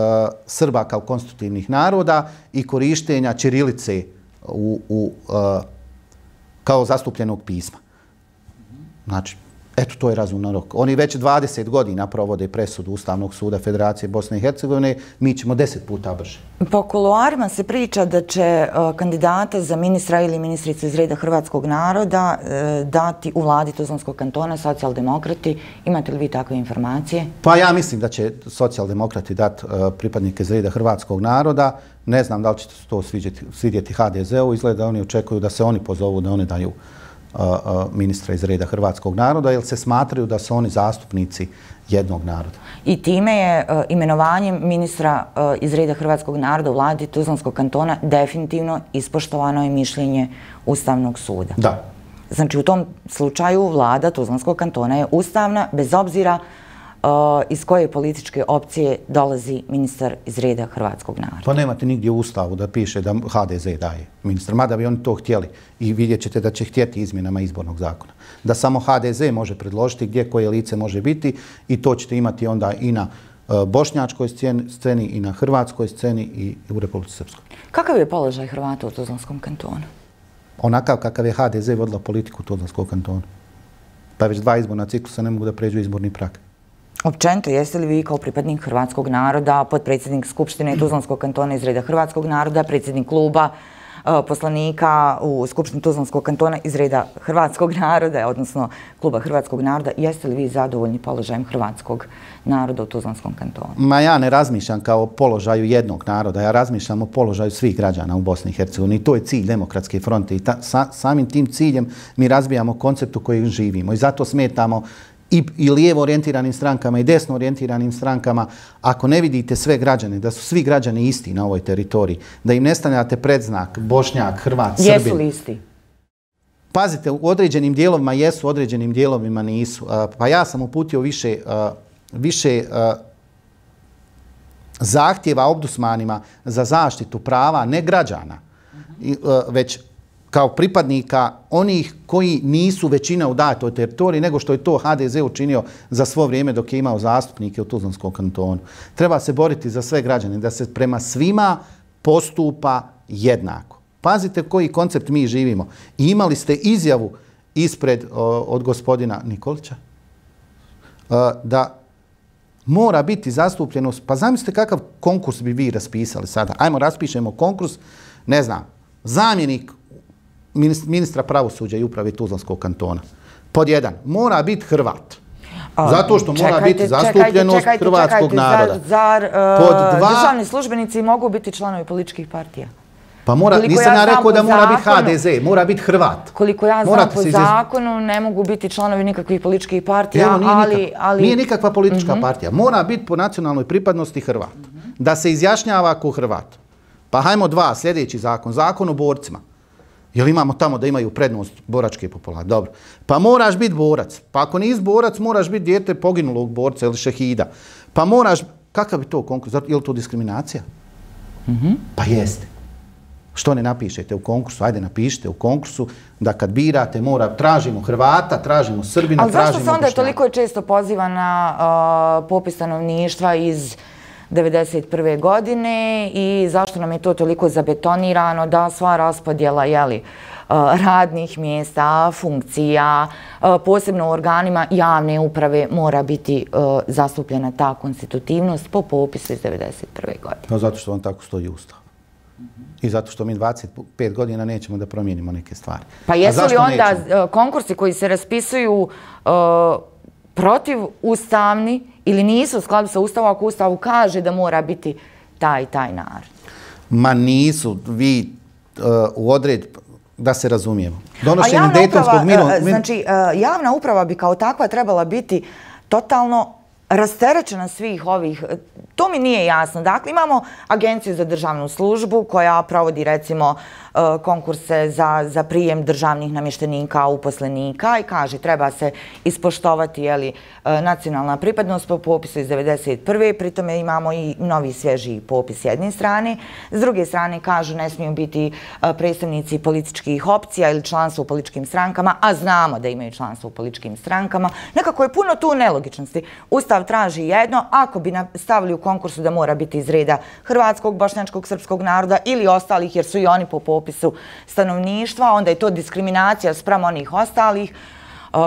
Srba kao konstitutivnih naroda i korištenja ćirilice u, u, uh, kao zastupljenog pisma. Znači, eto, to je razuman rok. Oni već dvadeset godina provode presudu Ustavnog suda Federacije Bosne i Hercegovine, mi ćemo deset puta brže. Po kuloarima se priča da će uh, kandidata za ministra ili ministricu iz reda hrvatskog naroda uh, dati u vladi Tuzlanskog kantona socijaldemokrati. Imate li vi takve informacije? Pa ja mislim da će socijaldemokrati dati uh, pripadnike iz reda hrvatskog naroda. Ne znam da li će to svidjeti, svidjeti ha de ze u. Izgleda da oni očekuju da se oni pozovu, da oni daju ministra iz reda hrvatskog naroda, jer se smatraju da su oni zastupnici jednog naroda. I time je uh, imenovanjem ministra uh, iz reda hrvatskog naroda u vladi Tuzlanskog kantona definitivno ispoštovano je mišljenje Ustavnog suda. Da. Znači u tom slučaju vlada Tuzlanskog kantona je ustavna, bez obzira uh, iz koje političke opcije dolazi ministar iz reda hrvatskog naroda. Pa nemate nigdje u Ustavu da piše da ha de ze daje ministar, mada bi oni to htjeli i vidjet ćete da će htjeti izmjenama izbornog zakona. Da samo ha de ze može predložiti gdje koje lice može biti i to ćete imati onda i na uh, bošnjačkoj sceni i na hrvatskoj sceni i u Republici Srpskoj. Kakav je položaj Hrvata u Tuzlanskom kantonu? Onakav kakav je ha de ze vodila politiku Tuzlanskog kantona. Pa već dva izborna ciklusa ne mogu da pređu izborni prag. Općenito, jeste li vi kao pripadnik hrvatskog naroda, potpredsjednik Skupštine Tuzlanskog kantona iz reda hrvatskog naroda, predsjednik kluba, poslanika u Skupštini Tuzlanskog kantona iz reda hrvatskog naroda, odnosno kluba hrvatskog naroda, jeste li vi zadovoljni položajem hrvatskog naroda u Tuzlanskom kantonu? Ma ja ne razmišljam kao o položaju jednog naroda, ja razmišljam o položaju svih građana u Bosni i Hercegovini i to je cilj Demokratske fronte i ta, sa, samim tim ciljem mi razbijamo koncept u kojem živimo i zato smetamo i, i lijevo orijentiranim strankama i desno orijentiranim strankama, ako ne vidite sve građane, da su svi građani isti na ovoj teritoriji, da im ne stavljate predznak Bošnjak, Hrvat, Srbin. Jesu li isti? Pazite, u određenim dijelovima jesu, u određenim dijelovima nisu. Pa ja sam uputio više, više zahtjeva obdusmanima za zaštitu prava, ne građana, već kao pripadnika onih koji nisu većina u datoj teritoriji, nego što je to ha de ze učinio za svo vrijeme dok je imao zastupnike u Tuzlanskom kantonu. Treba se boriti za sve građane, da se prema svima postupa jednako. Pazite koji koncept mi živimo. I imali ste izjavu ispred o, od gospodina Nikolića o, da mora biti zastupljenost. Pa zamislite kakav konkurs bi vi raspisali sada. Ajmo, raspišemo konkurs, ne znam, zamjenik ministra pravosuđa i uprave Tuzlanskog kantona. Pod jedan, mora bitiHrvat. Zato što mora čekajte, biti zastupljenost čekajte, hrvatskog čekajte, naroda. Zar, zar uh, Pod dva, državni službenici mogu biti članovi političkih partija? Pa mora, nisam ja rekao da mora zakonu, biti ha de ze, mora biti Hrvat. Koliko ja znam po zakonu ne mogu biti članovi nikakvih političkih partija, Evo, nije ali, nikak, ali... Nije nikakva politička uh-huh. partija. Mora biti po nacionalnoj pripadnosti Hrvat. Uh-huh. Da se izjašnjava ko Hrvat. Pa hajmo dva, sljedeći zakon. Zakon o borcima. Jel imamo tamo da imaju prednost boračke populacije? Dobro. Pa moraš biti borac. Pa ako nisi borac, moraš biti dijete poginulog borca ili šehida. Pa moraš... Kakav je to konkurs? Je li to diskriminacija? Mm-hmm. Pa jeste. Što ne napišete u konkursu? Ajde, napišite u konkursu da kad birate, mora, tražimo Hrvata, tražimo Srbina, ali tražimo Bošnjaka. Ali zašto se onda Bošnjaka. toliko često poziva na uh, popis stanovništva iz devedeset prve. godine i zašto nam je to toliko zabetonirano da sva raspodjela, jeli, radnih mjesta, funkcija, posebno u organima javne uprave mora biti zastupljena ta konstitutivnost po popisu iz devedeset prve. godine. No, zato što vam tako stoji Ustav. I zato što mi dvadeset pet godina nećemo da promijenimo neke stvari. Pa jesu li onda konkursi koji se raspisuju protiv ustavni ili nisu u skladu sa Ustavom ako Ustavu kaže da mora biti taj i taj narod? Ma nisu. Vi u odred, da se razumijemo. Donošenjem Dejtonskog mirovnog... Znači, javna uprava bi kao takva trebala biti totalno rasterećena svih ovih, to mi nije jasno. Dakle, imamo Agenciju za državnu službu koja provodi, recimo, konkurse za, za prijem državnih namještenika, uposlenika i kaže treba se ispoštovati, jeli, nacionalna pripadnost po popisu iz devedeset prve. Pritome imamo i novi svježi popis s jedne strane. S druge strane kažu ne smiju biti predstavnici političkih opcija ili članstvo u političkim strankama, a znamo da imaju članstvo u političkim strankama. Nekako je puno tu nelogičnosti. Ustav traži jedno, ako bi stavili u konkursu da mora biti iz reda hrvatskog, bošnjačkog, srpskog naroda ili ostalih, jer su i oni po popisu stanovništva, onda je to diskriminacija spram onih ostalih.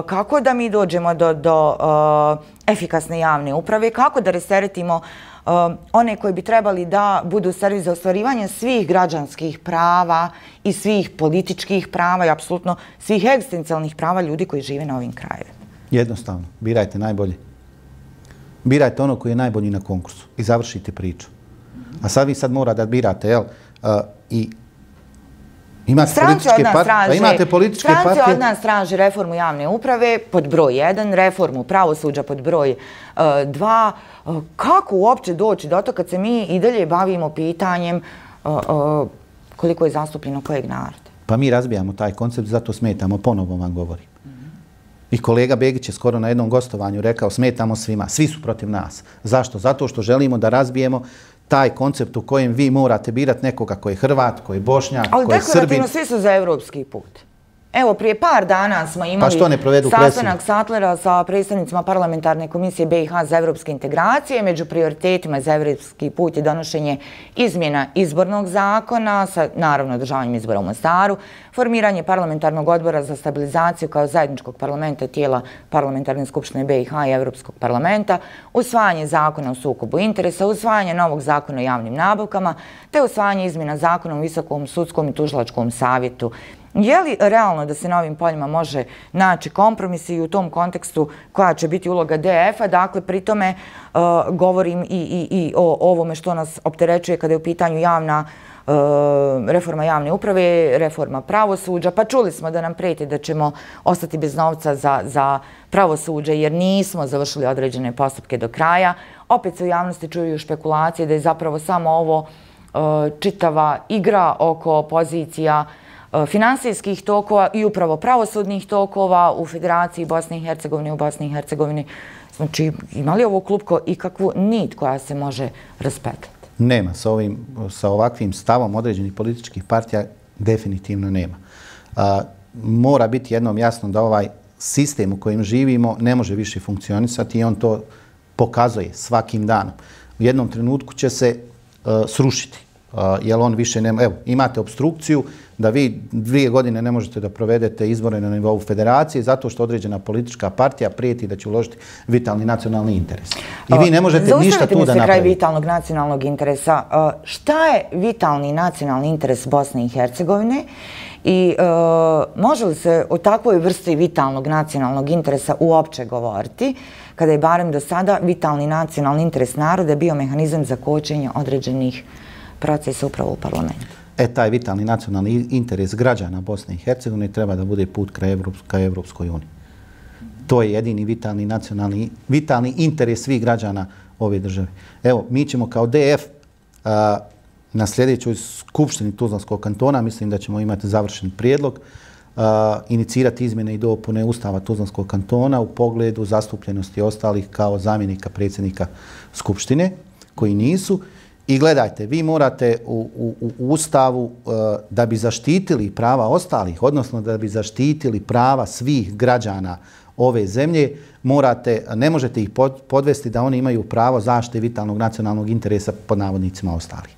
Kako da mi dođemo do, do uh, efikasne javne uprave, kako da rasteretimo uh, one koji bi trebali da budu servis za ostvarivanje svih građanskih prava i svih političkih prava i apsolutno svih egzistencijalnih prava ljudi koji žive na ovim krajevima. Jednostavno, birajte najbolje. Birajte ono koji je najbolji na konkursu i završite priču. A sad vi sad mora da birate, jel, uh, i imate političke partije, imate političke partije. Stranci od nas traži reformu javne uprave pod broj jedan, reformu pravosuđa pod broj dva. Kako uopće doći do to kad se mi i dalje bavimo pitanjem koliko je zastupljeno kojeg naroda? Pa mi razbijamo taj koncept, zato smetamo, ponovo vam govorim. I kolega Begić je skoro na jednom gostovanju rekao smetamo svima, svi su protiv nas. Zašto? Zato što želimo da razbijemo taj koncept u kojem vi morate birati nekoga koji je Hrvat, koji je Bošnjak, koji je Srbin. Ali deklarativno svi su za evropski put. Evo, prije par dana smo imali sastanak Satlera sa predstavnicima parlamentarne komisije B i H za evropske integracije. Među prioritetima za evropski put je donošenje izmjena izbornog zakona sa, naravno, održavanjem izbora u Mostaru, formiranje parlamentarnog odbora za stabilizaciju kao zajedničkog parlamenta tijela parlamentarne skupštine B i H i Evropskog parlamenta, usvajanje zakona o sukobu interesa, usvajanje novog zakona o javnim nabavkama, te usvajanje izmjena zakona o visokom sudskom i tužilačkom savjetu. Je li realno da se na ovim poljima može naći kompromis i u tom kontekstu koja će biti uloga D F-a? Dakle, pri tome uh, govorim i, i, i o ovome što nas opterećuje kada je u pitanju javna uh, reforma javne uprave, reforma pravosuđa. Pa čuli smo da nam prijeti da ćemo ostati bez novca za, za pravosuđe jer nismo završili određene postupke do kraja. Opet se u javnosti čuju špekulacije da je zapravo samo ovo uh, čitava igra oko pozicija finansijskih tokova i upravo pravosudnih tokova u Federaciji Bosne i Hercegovine, u Bosni i Hercegovini. Znači, ima li ovo klupko ikakvu nit koja se može raspetljati? Nema. Sa, ovim, sa ovakvim stavom određenih političkih partija definitivno nema. A, mora biti jednom jasno da ovaj sistem u kojem živimo ne može više funkcionisati i on to pokazuje svakim danom. U jednom trenutku će se a, srušiti. Uh, jer on više nema, evo, imate obstrukciju da vi dvije godine ne možete da provedete izbore na nivou federacije zato što određena politička partija prijeti da će uložiti vitalni nacionalni interes. I vi ne možete ništa tu da napravite. Zaustavite mi se kraj vitalnog nacionalnog interesa. Uh, šta je vitalni nacionalni interes Bosne i Hercegovine i uh, može li se o takvoj vrsti vitalnog nacionalnog interesa uopće govoriti kada je barem do sada vitalni nacionalni interes naroda bio mehanizam za kočenje određenih procesa upravo u parlamentu? E, taj vitalni nacionalni interes građana Bosne i Hercegovine treba da bude put ka Evropskoj uniji. To je jedini vitalni nacionalni, vitalni interes svih građana ove države. Evo, mi ćemo kao D F a, na sljedećoj skupštini Tuzlanskog kantona, mislim da ćemo imati završen prijedlog, a, inicirati izmjene i dopune Ustava Tuzlanskog kantona u pogledu zastupljenosti ostalih kao zamjenika predsjednika skupštine, koji nisu. I gledajte, vi morate u, u, u Ustavu uh, da bi zaštitili prava ostalih, odnosno da bi zaštitili prava svih građana ove zemlje, morate, ne možete ih podvesti da oni imaju pravo zaštite vitalnog nacionalnog interesa pod navodnicima ostalih.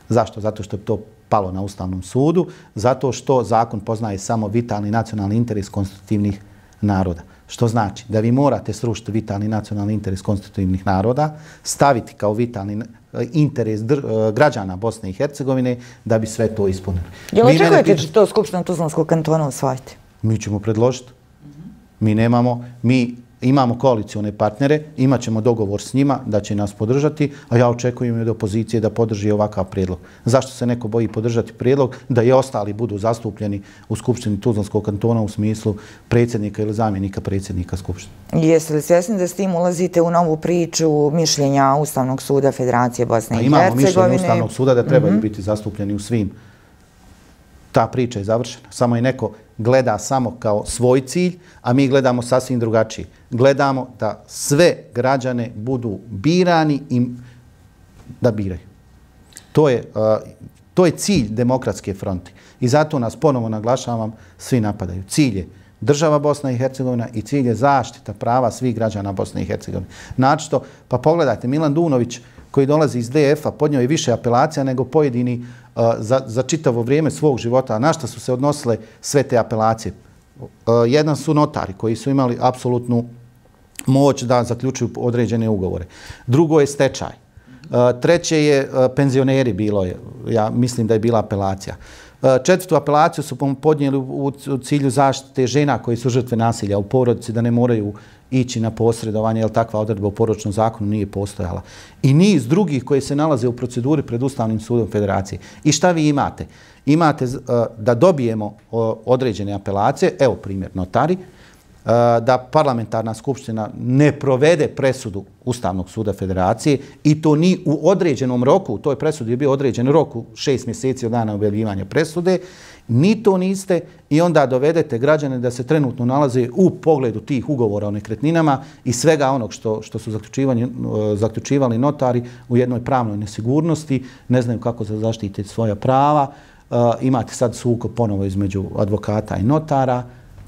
Zašto? Zato što je to palo na Ustavnom sudu, zato što zakon poznaje samo vitalni nacionalni interes konstitutivnih naroda. Što znači da vi morate srušiti vitalni nacionalni interes konstitutivnih naroda, staviti kao vitalni interes građana Bosne i Hercegovine da bi sve to ispunili. Jel očekujete da će to Skupština Tuzlanskog kantona usvojiti? Mi ćemo predložiti. Mi nemamo, mi imamo koalicione partnere, imat ćemo dogovor s njima da će nas podržati, a ja očekujem od opozicije da podrži ovakav prijedlog. Zašto se neko boji podržati prijedlog da i ostali budu zastupljeni u Skupštini Tuzlanskog kantona u smislu predsjednika ili zamjenika predsjednika Skupštine? Jeste li svjesni da s tim ulazite u novu priču mišljenja Ustavnog suda Federacije Bosne i Hercegovine? Imamo mišljenje Ustavnog suda da trebaju biti zastupljeni u svim. Ta priča je završena. Samo je neko gleda samo kao svoj cilj, a mi gledamo sasvim drugačije. Gledamo da sve građane budu birani i da biraju. To je, to je cilj Demokratske fronte. I zato nas ponovo naglašavam, svi napadaju. Cilj je država Bosna i Hercegovina i cilj je zaštita prava svih građana Bosne i Hercegovine. Načisto, pa pogledajte, Milan Dunović koji dolazi iz D F-a, podnio je više apelacija nego pojedini uh, za, za čitavo vrijeme svog života. Na što su se odnosile sve te apelacije? Uh, jedan su notari koji su imali apsolutnu moć da zaključuju određene ugovore. Drugo je stečaj. Uh, treće je uh, penzioneri bilo je. Ja mislim da je bila apelacija. Uh, četvrtu apelaciju su podnijeli u, u cilju zaštite žena koji su žrtve nasilja u porodici, da ne moraju ići na posredovanje, jer takva odredba u porodičnom zakonu nije postojala. I niz drugih koji se nalaze u proceduri pred Ustavnim sudom Federacije. I šta vi imate? Imate uh, da dobijemo uh, određene apelacije, evo primjer notari, uh, da parlamentarna skupština ne provede presudu Ustavnog suda Federacije i to ni u određenom roku, u toj presudi je bio određen rok u šest mjeseci od dana objavljivanja presude, ni to niste i onda dovedete građane da se trenutno nalaze u pogledu tih ugovora o nekretninama i svega onog što, što su zaključivali notari u jednoj pravnoj nesigurnosti, ne znaju kako da zaštite svoja prava, uh, imate sad sukob ponovo između advokata i notara.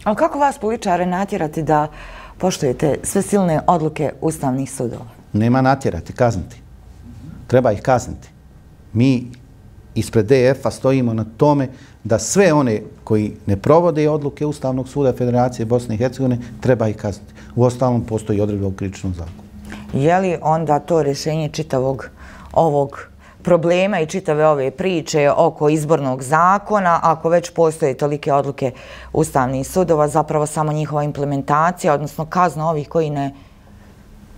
Ali kako vas političare natjerati da poštujete sve silne odluke ustavnih sudova? Nema natjerati, kazniti. Treba ih kazniti. Mi ispred D F-a stojimo na tome da sve one koji ne provode odluke Ustavnog suda Federacije Bosne i Hercegovine treba ih kazniti. U ostalom postoji odredba u krivičnom zakonu. Je li onda to rješenje čitavog ovog problema i čitave ove priče oko izbornog zakona, ako već postoje tolike odluke ustavnih sudova, zapravo samo njihova implementacija, odnosno kazna ovih koji ne...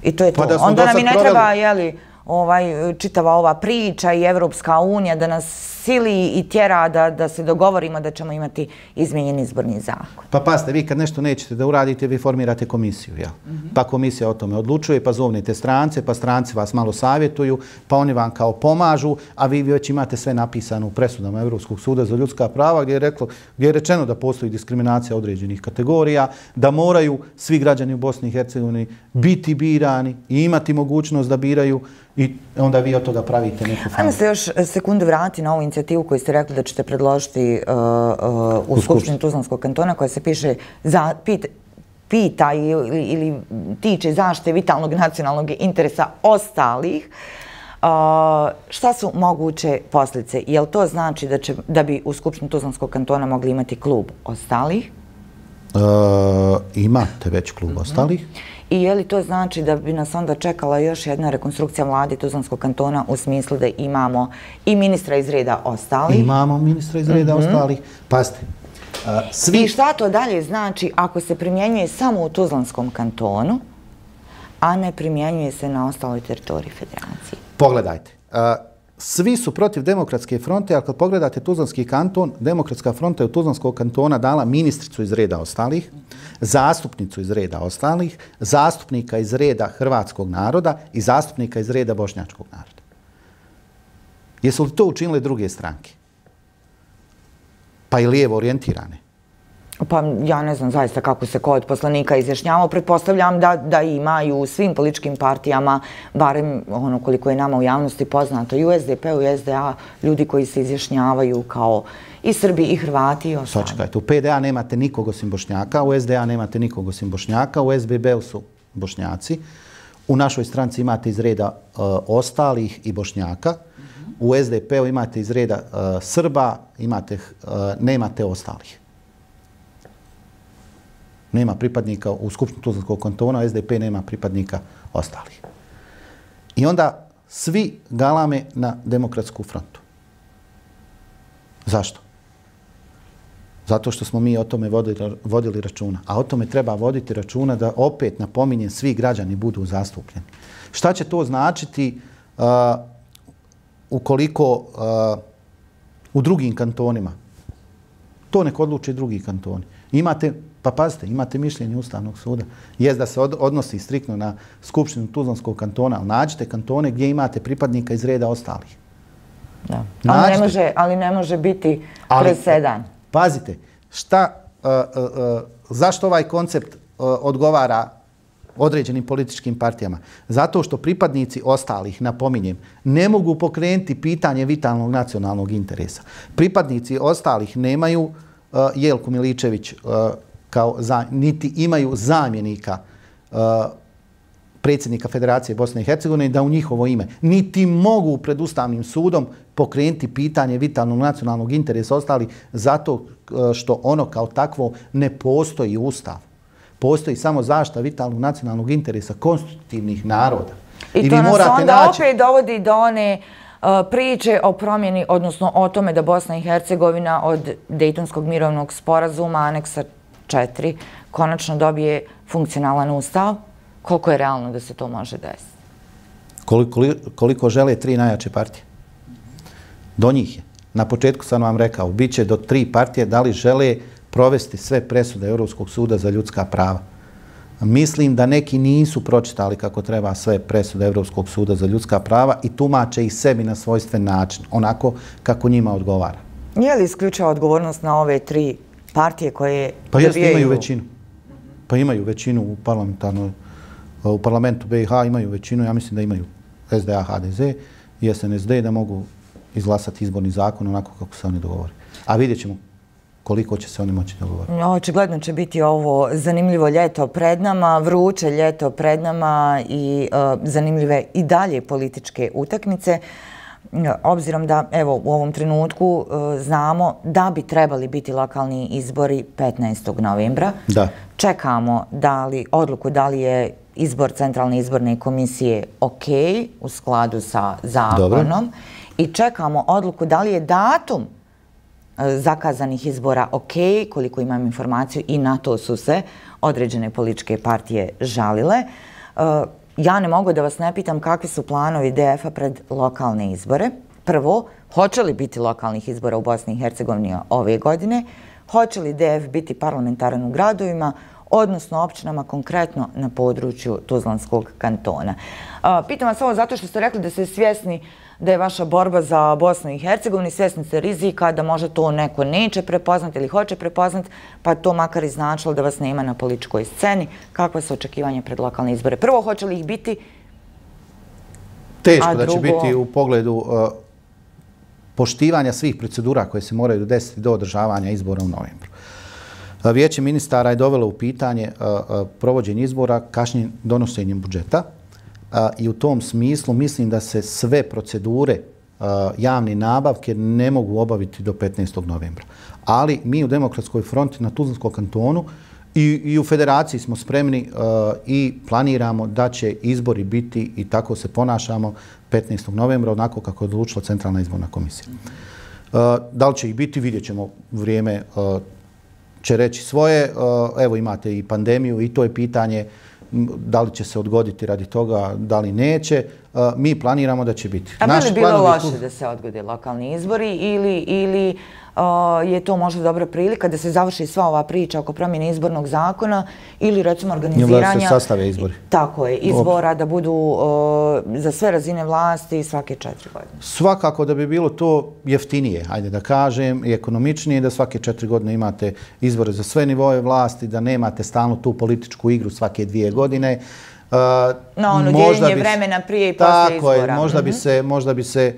I to je to. Pa onda nam i ne proveli... treba, jeli, ovaj, čitava ova priča i Evropska unija da nas sili i tjera da, da se dogovorimo da ćemo imati izmijenjen izborni zakon. Pa pasite, vi kad nešto nećete da uradite, vi formirate komisiju, jel? Mm-hmm. Pa komisija o tome odlučuje, pa zovnete strance, pa stranci vas malo savjetuju, pa oni vam kao pomažu, a vi već imate sve napisano u presudama Evropskog suda za ljudska prava gdje je, reklo, gdje je rečeno da postoji diskriminacija određenih kategorija, da moraju svi građani u Bosni i Hercegovini biti birani i imati mogućnost da biraju i onda vi od toga pravite neku famu. Ajmo se još sekundu vrati na ovu inicijativu koju ste rekli da ćete predložiti uh, uh, u, u Skupštini Tuzlanskog kantona koja se piše za, pita, pita ili, ili tiče zaštite vitalnog nacionalnog interesa ostalih. Uh, šta su moguće posljedice? Je li to znači da, će, da bi u Skupštini Tuzlanskog kantona mogli imati klub ostalih? Uh, imate već klub mm-hmm. ostalih. I je li to znači da bi nas onda čekala još jedna rekonstrukcija vlade Tuzlanskog kantona u smislu da imamo i ministra iz reda ostalih? Imamo ministra iz reda mm-hmm. ostalih. Pazite. Uh, svi... I šta to dalje znači ako se primjenjuje samo u Tuzlanskom kantonu, a ne primjenjuje se na ostaloj teritoriji federacije? Pogledajte. Uh, svi su protiv Demokratske fronte, ali kad pogledate Tuzlanski kanton, Demokratska fronta je u Tuzlanskog kantona dala ministricu iz reda ostalih, zastupnicu iz reda ostalih, zastupnika iz reda hrvatskog naroda i zastupnika iz reda bošnjačkog naroda. Jesu li to učinile druge stranke? Pa i lijevo orijentirane? Pa ja ne znam zaista kako se ko od poslanika izjašnjavao. Pretpostavljam da, da imaju u svim političkim partijama, barem ono koliko je nama u javnosti poznato, i u S D P u i S D A, ljudi koji se izjašnjavaju kao i Srbi i Hrvati i ostali. Sačekajte, u P D A nemate nikog osim Bošnjaka, u S D A nemate nikog osim Bošnjaka, u S B B-u su Bošnjaci, u našoj stranci imate iz reda uh, ostalih i Bošnjaka, mm-hmm. u S D P-u imate iz reda uh, Srba, imate, uh, nemate ostalih. Nema pripadnika u Skupštini Tuzlanskog kantona, S D P nema pripadnika ostalih. I onda svi galame na Demokratsku frontu. Zašto? Zato što smo mi o tome vodili, vodili računa. A o tome treba voditi računa da opet, napominjem, svi građani budu zastupljeni. Šta će to značiti uh, ukoliko uh, u drugim kantonima? To nek odluče drugi kantoni. Imate, pa pazite, imate mišljenje Ustavnog suda. Jest da se od, odnosi striktno na Skupštinu Tuzlanskog kantona, ali nađite kantone gdje imate pripadnika iz reda ostalih. Da. Ali, ne može, ali ne može biti presedan. Pazite, šta, uh, uh, uh, zašto ovaj koncept uh, odgovara određenim političkim partijama? Zato što pripadnici ostalih, napominjem, ne mogu pokrenuti pitanje vitalnog nacionalnog interesa. Pripadnici ostalih nemaju uh, Jelku Miličević uh, kao za, niti imaju zamjenika uh, predsjednika Federacije Bosne i Hercegovine da u njihovo ime niti mogu pred Ustavnim sudom pokrenuti pitanje vitalnog nacionalnog interesa ostali zato što ono kao takvo ne postoji Ustav. Postoji samo zaštita vitalnog nacionalnog interesa konstitutivnih naroda. I, I to vi nas morate onda naći... opet dovodi do one uh, priče o promjeni, odnosno o tome da Bosna i Hercegovina od Dejtonskog mirovnog sporazuma, aneksa četiri, konačno dobije funkcionalan ustav. Koliko je realno da se to može desiti? Koliko, koliko žele tri najjače partije? Do njih je. Na početku sam vam rekao, bit će do tri partije da li žele provesti sve presude Europskog suda za ljudska prava. Mislim da neki nisu pročitali kako treba sve presude Europskog suda za ljudska prava i tumače ih sebi na svojstven način, onako kako njima odgovara. Je li isključava odgovornost na ove tri partije koje pa dobijaju... Pa imaju većinu. Pa imaju većinu u parlamentarnoj u parlamentu B i H imaju većinu, ja mislim da imaju S D A, H D Z i S N S D da mogu izglasati izborni zakon onako kako se oni dogovore. A vidjet ćemo koliko će se oni moći dogovoriti. Očigledno će biti ovo zanimljivo ljeto pred nama, vruće ljeto pred nama i uh, zanimljive i dalje političke utakmice. Obzirom da evo u ovom trenutku uh, znamo da bi trebali biti lokalni izbori petnaestog novembra. Da. Čekamo da li, odluku da li je izbor Centralne izborne komisije ok u skladu sa zakonom. Dobro. I čekamo odluku da li je datum zakazanih izbora ok, koliko imam informaciju i na to su se određene političke partije žalile. Ja ne mogu da vas ne pitam kakvi su planovi D F-a pred lokalne izbore. Prvo, hoće li biti lokalnih izbora u Bosni i Hercegovini ove godine? Hoće li D F biti parlamentaran u gradovima, odnosno općinama konkretno na području Tuzlanskog kantona? Pitam vas ovo zato što ste rekli da ste svjesni da je vaša borba za Bosnu i Hercegovinu, svjesni ste rizika da možda to neko neće prepoznati ili hoće prepoznati, pa to makar i značilo da vas nema na političkoj sceni. Kakva su očekivanja pred lokalne izbore? Prvo, hoće li ih biti? Teško da će biti u pogledu uh, poštivanja svih procedura koje se moraju desiti do održavanja izbora u novembru. Uh, Vijeće ministara je dovelo u pitanje uh, uh, provođenje izbora kašnjenjem donošenjem budžeta. Uh, I u tom smislu mislim da se sve procedure uh, javne nabavke ne mogu obaviti do petnaestog novembra. Ali mi u Demokratskoj fronti na Tuzlanskom kantonu i, i u Federaciji smo spremni uh, i planiramo da će izbori biti i tako se ponašamo petnaestog novembra onako kako je odlučila Centralna izborna komisija. Uh, da li će ih biti, vidjet ćemo, vrijeme uh, će reći svoje. Uh, evo imate i pandemiju i to je pitanje da li će se odgoditi radi toga, da li neće. Mi planiramo da će biti. A bi li bilo loše da se odgode lokalni izbori ili, ili uh, je to možda dobra prilika da se završi sva ova priča oko promjene izbornog zakona ili recimo organiziranja... Da se sastave izbori. Tako je, izbora da budu za sve razine vlasti svake četiri godine. Svakako da bi bilo to jeftinije, ajde da kažem, i ekonomičnije, da svake četiri godine imate izbore za sve nivoje vlasti, da nemate stalno tu političku igru svake dvije godine. Na ono dijeljenje vremena prije i poslije izbora. Tako je, možda bi se, možda bi se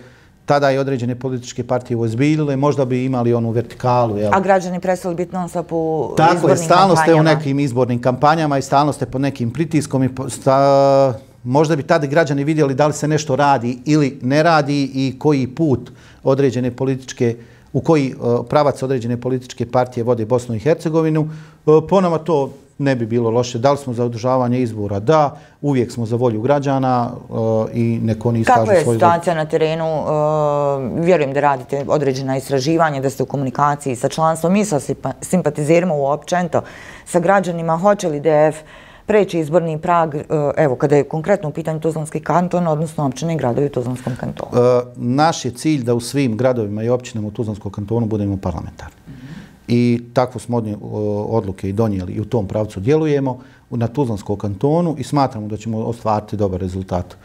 tada i određene političke partije uozbiljile, možda bi imali onu vertikalu. A građani prestali biti non stop u izbornim kampanjama? Tako je, stalno ste u nekim izbornim kampanjama i stalno ste pod nekim pritiskom i možda bi tada građani vidjeli da li se nešto radi ili ne radi i koji put određene političke, u koji pravac određene političke partije vode Bosnu i Hercegovinu. Po nama to ne bi bilo loše. Da li smo za održavanje izbora? Da. Uvijek smo za volju građana i neko oni iskažu svoju volju. Kako je situacija na terenu? Vjerujem da radite određena istraživanja, da ste u komunikaciji sa članstvom i sa simpatizerima uopćento sa građanima. Hoće li D F preći izborni prag, evo, kada je konkretno u pitanju Tuzlanski kanton, odnosno općine i gradovi u Tuzlanskom kantonu? Naš je cilj da u svim gradovima i općinama u Tuzlanskom kantonu budemo parlamentarni. I takvu smo odluke i donijeli i u tom pravcu djelujemo na Tuzlanskom kantonu i smatramo da ćemo ostvariti dobar rezultat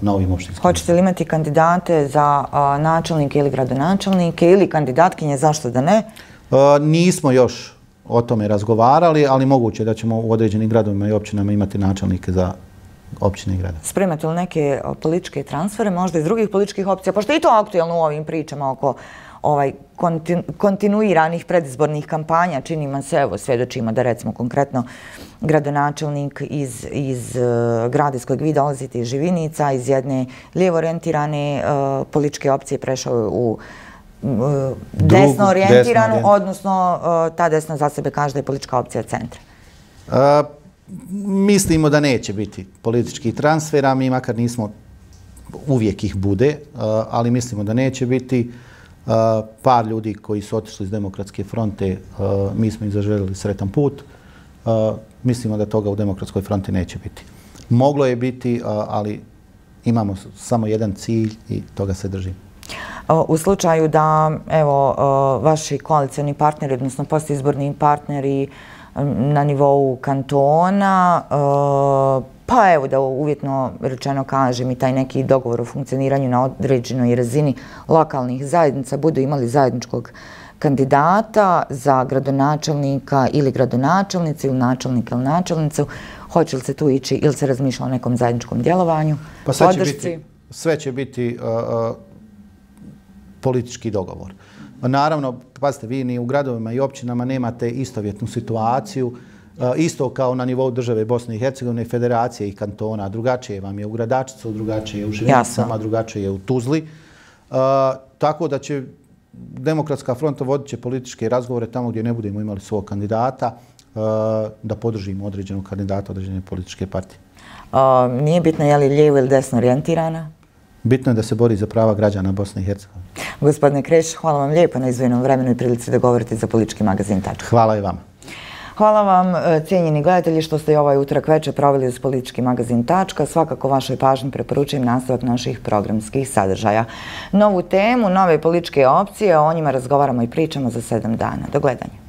na ovim opštinskim. Hoćete li imati kandidate za načelnike ili gradonačelnike ili kandidatkinje, zašto da ne? Nismo još o tome razgovarali, ali moguće da ćemo u određenim gradovima i općinama imati načelnike za općine i grada. Spremate li neke političke transfere, možda iz drugih političkih opcija, pošto je i to aktuelno u ovim pričama oko ovaj kontinuiranih predizbornih kampanja, činimo se, evo, svjedočimo da recimo konkretno gradonačelnik iz, iz uh, grada iz kojeg vi dolazite, iz Živinica, iz jedne lijevo orijentirane uh, političke opcije prešao u uh, desno orijentiranu, odnosno uh, ta desna za sebe kaže da je politička opcija centra. Uh, mislimo da neće biti političkih transfera, mi makar nismo, uvijek ih bude, uh, ali mislimo da neće biti. Uh, par ljudi koji su otišli iz Demokratske fronte, uh, mi smo im zaželjeli sretan put. Uh, mislimo da toga u Demokratskoj fronti neće biti. Moglo je biti, uh, ali imamo samo jedan cilj i toga se držimo. U slučaju da, evo, uh, vaši koalicioni partneri, odnosno postizborni partneri um, na nivou kantona, uh, pa evo da uvjetno rečeno kažem i taj neki dogovor o funkcioniranju na određenoj razini lokalnih zajednica budu imali zajedničkog kandidata za gradonačelnika ili gradonačelnicu ili načelnika ili načelnicu, hoće li se tu ići ili se razmišlja o nekom zajedničkom djelovanju, pa sve će biti, sve će biti uh, uh, politički dogovor. Naravno, pazite, vi ni u gradovima i općinama nemate istovjetnu situaciju. Isto kao na nivou države Bosne i Hercegovine, federacije i kantona. Drugačije vam je u Gradačcu, drugačije je u Živinicama, drugačije je u Tuzli. Tako da će Demokratska fronta vodit će političke razgovore tamo gdje ne budemo imali svog kandidata, da podržimo određenog kandidata, određene političke partije. Nije bitno je li lijevo ili desno orijentirana? Bitno je da se bori za prava građana Bosne i Hercegovine. Gospodine Kreš, hvala vam lijepo na izdvojenom vremenu i prilici da govorite za politički magazin Tačka. Hvala i vama. Hvala vam, cijenjeni gledatelji, što ste i ovaj utorak večer proveli uz politički magazin Tačka. Svakako vašoj pažnji preporučujem nastavak naših programskih sadržaja. Novu temu, nove političke opcije, o njima razgovaramo i pričamo za sedam dana. Do gledanja.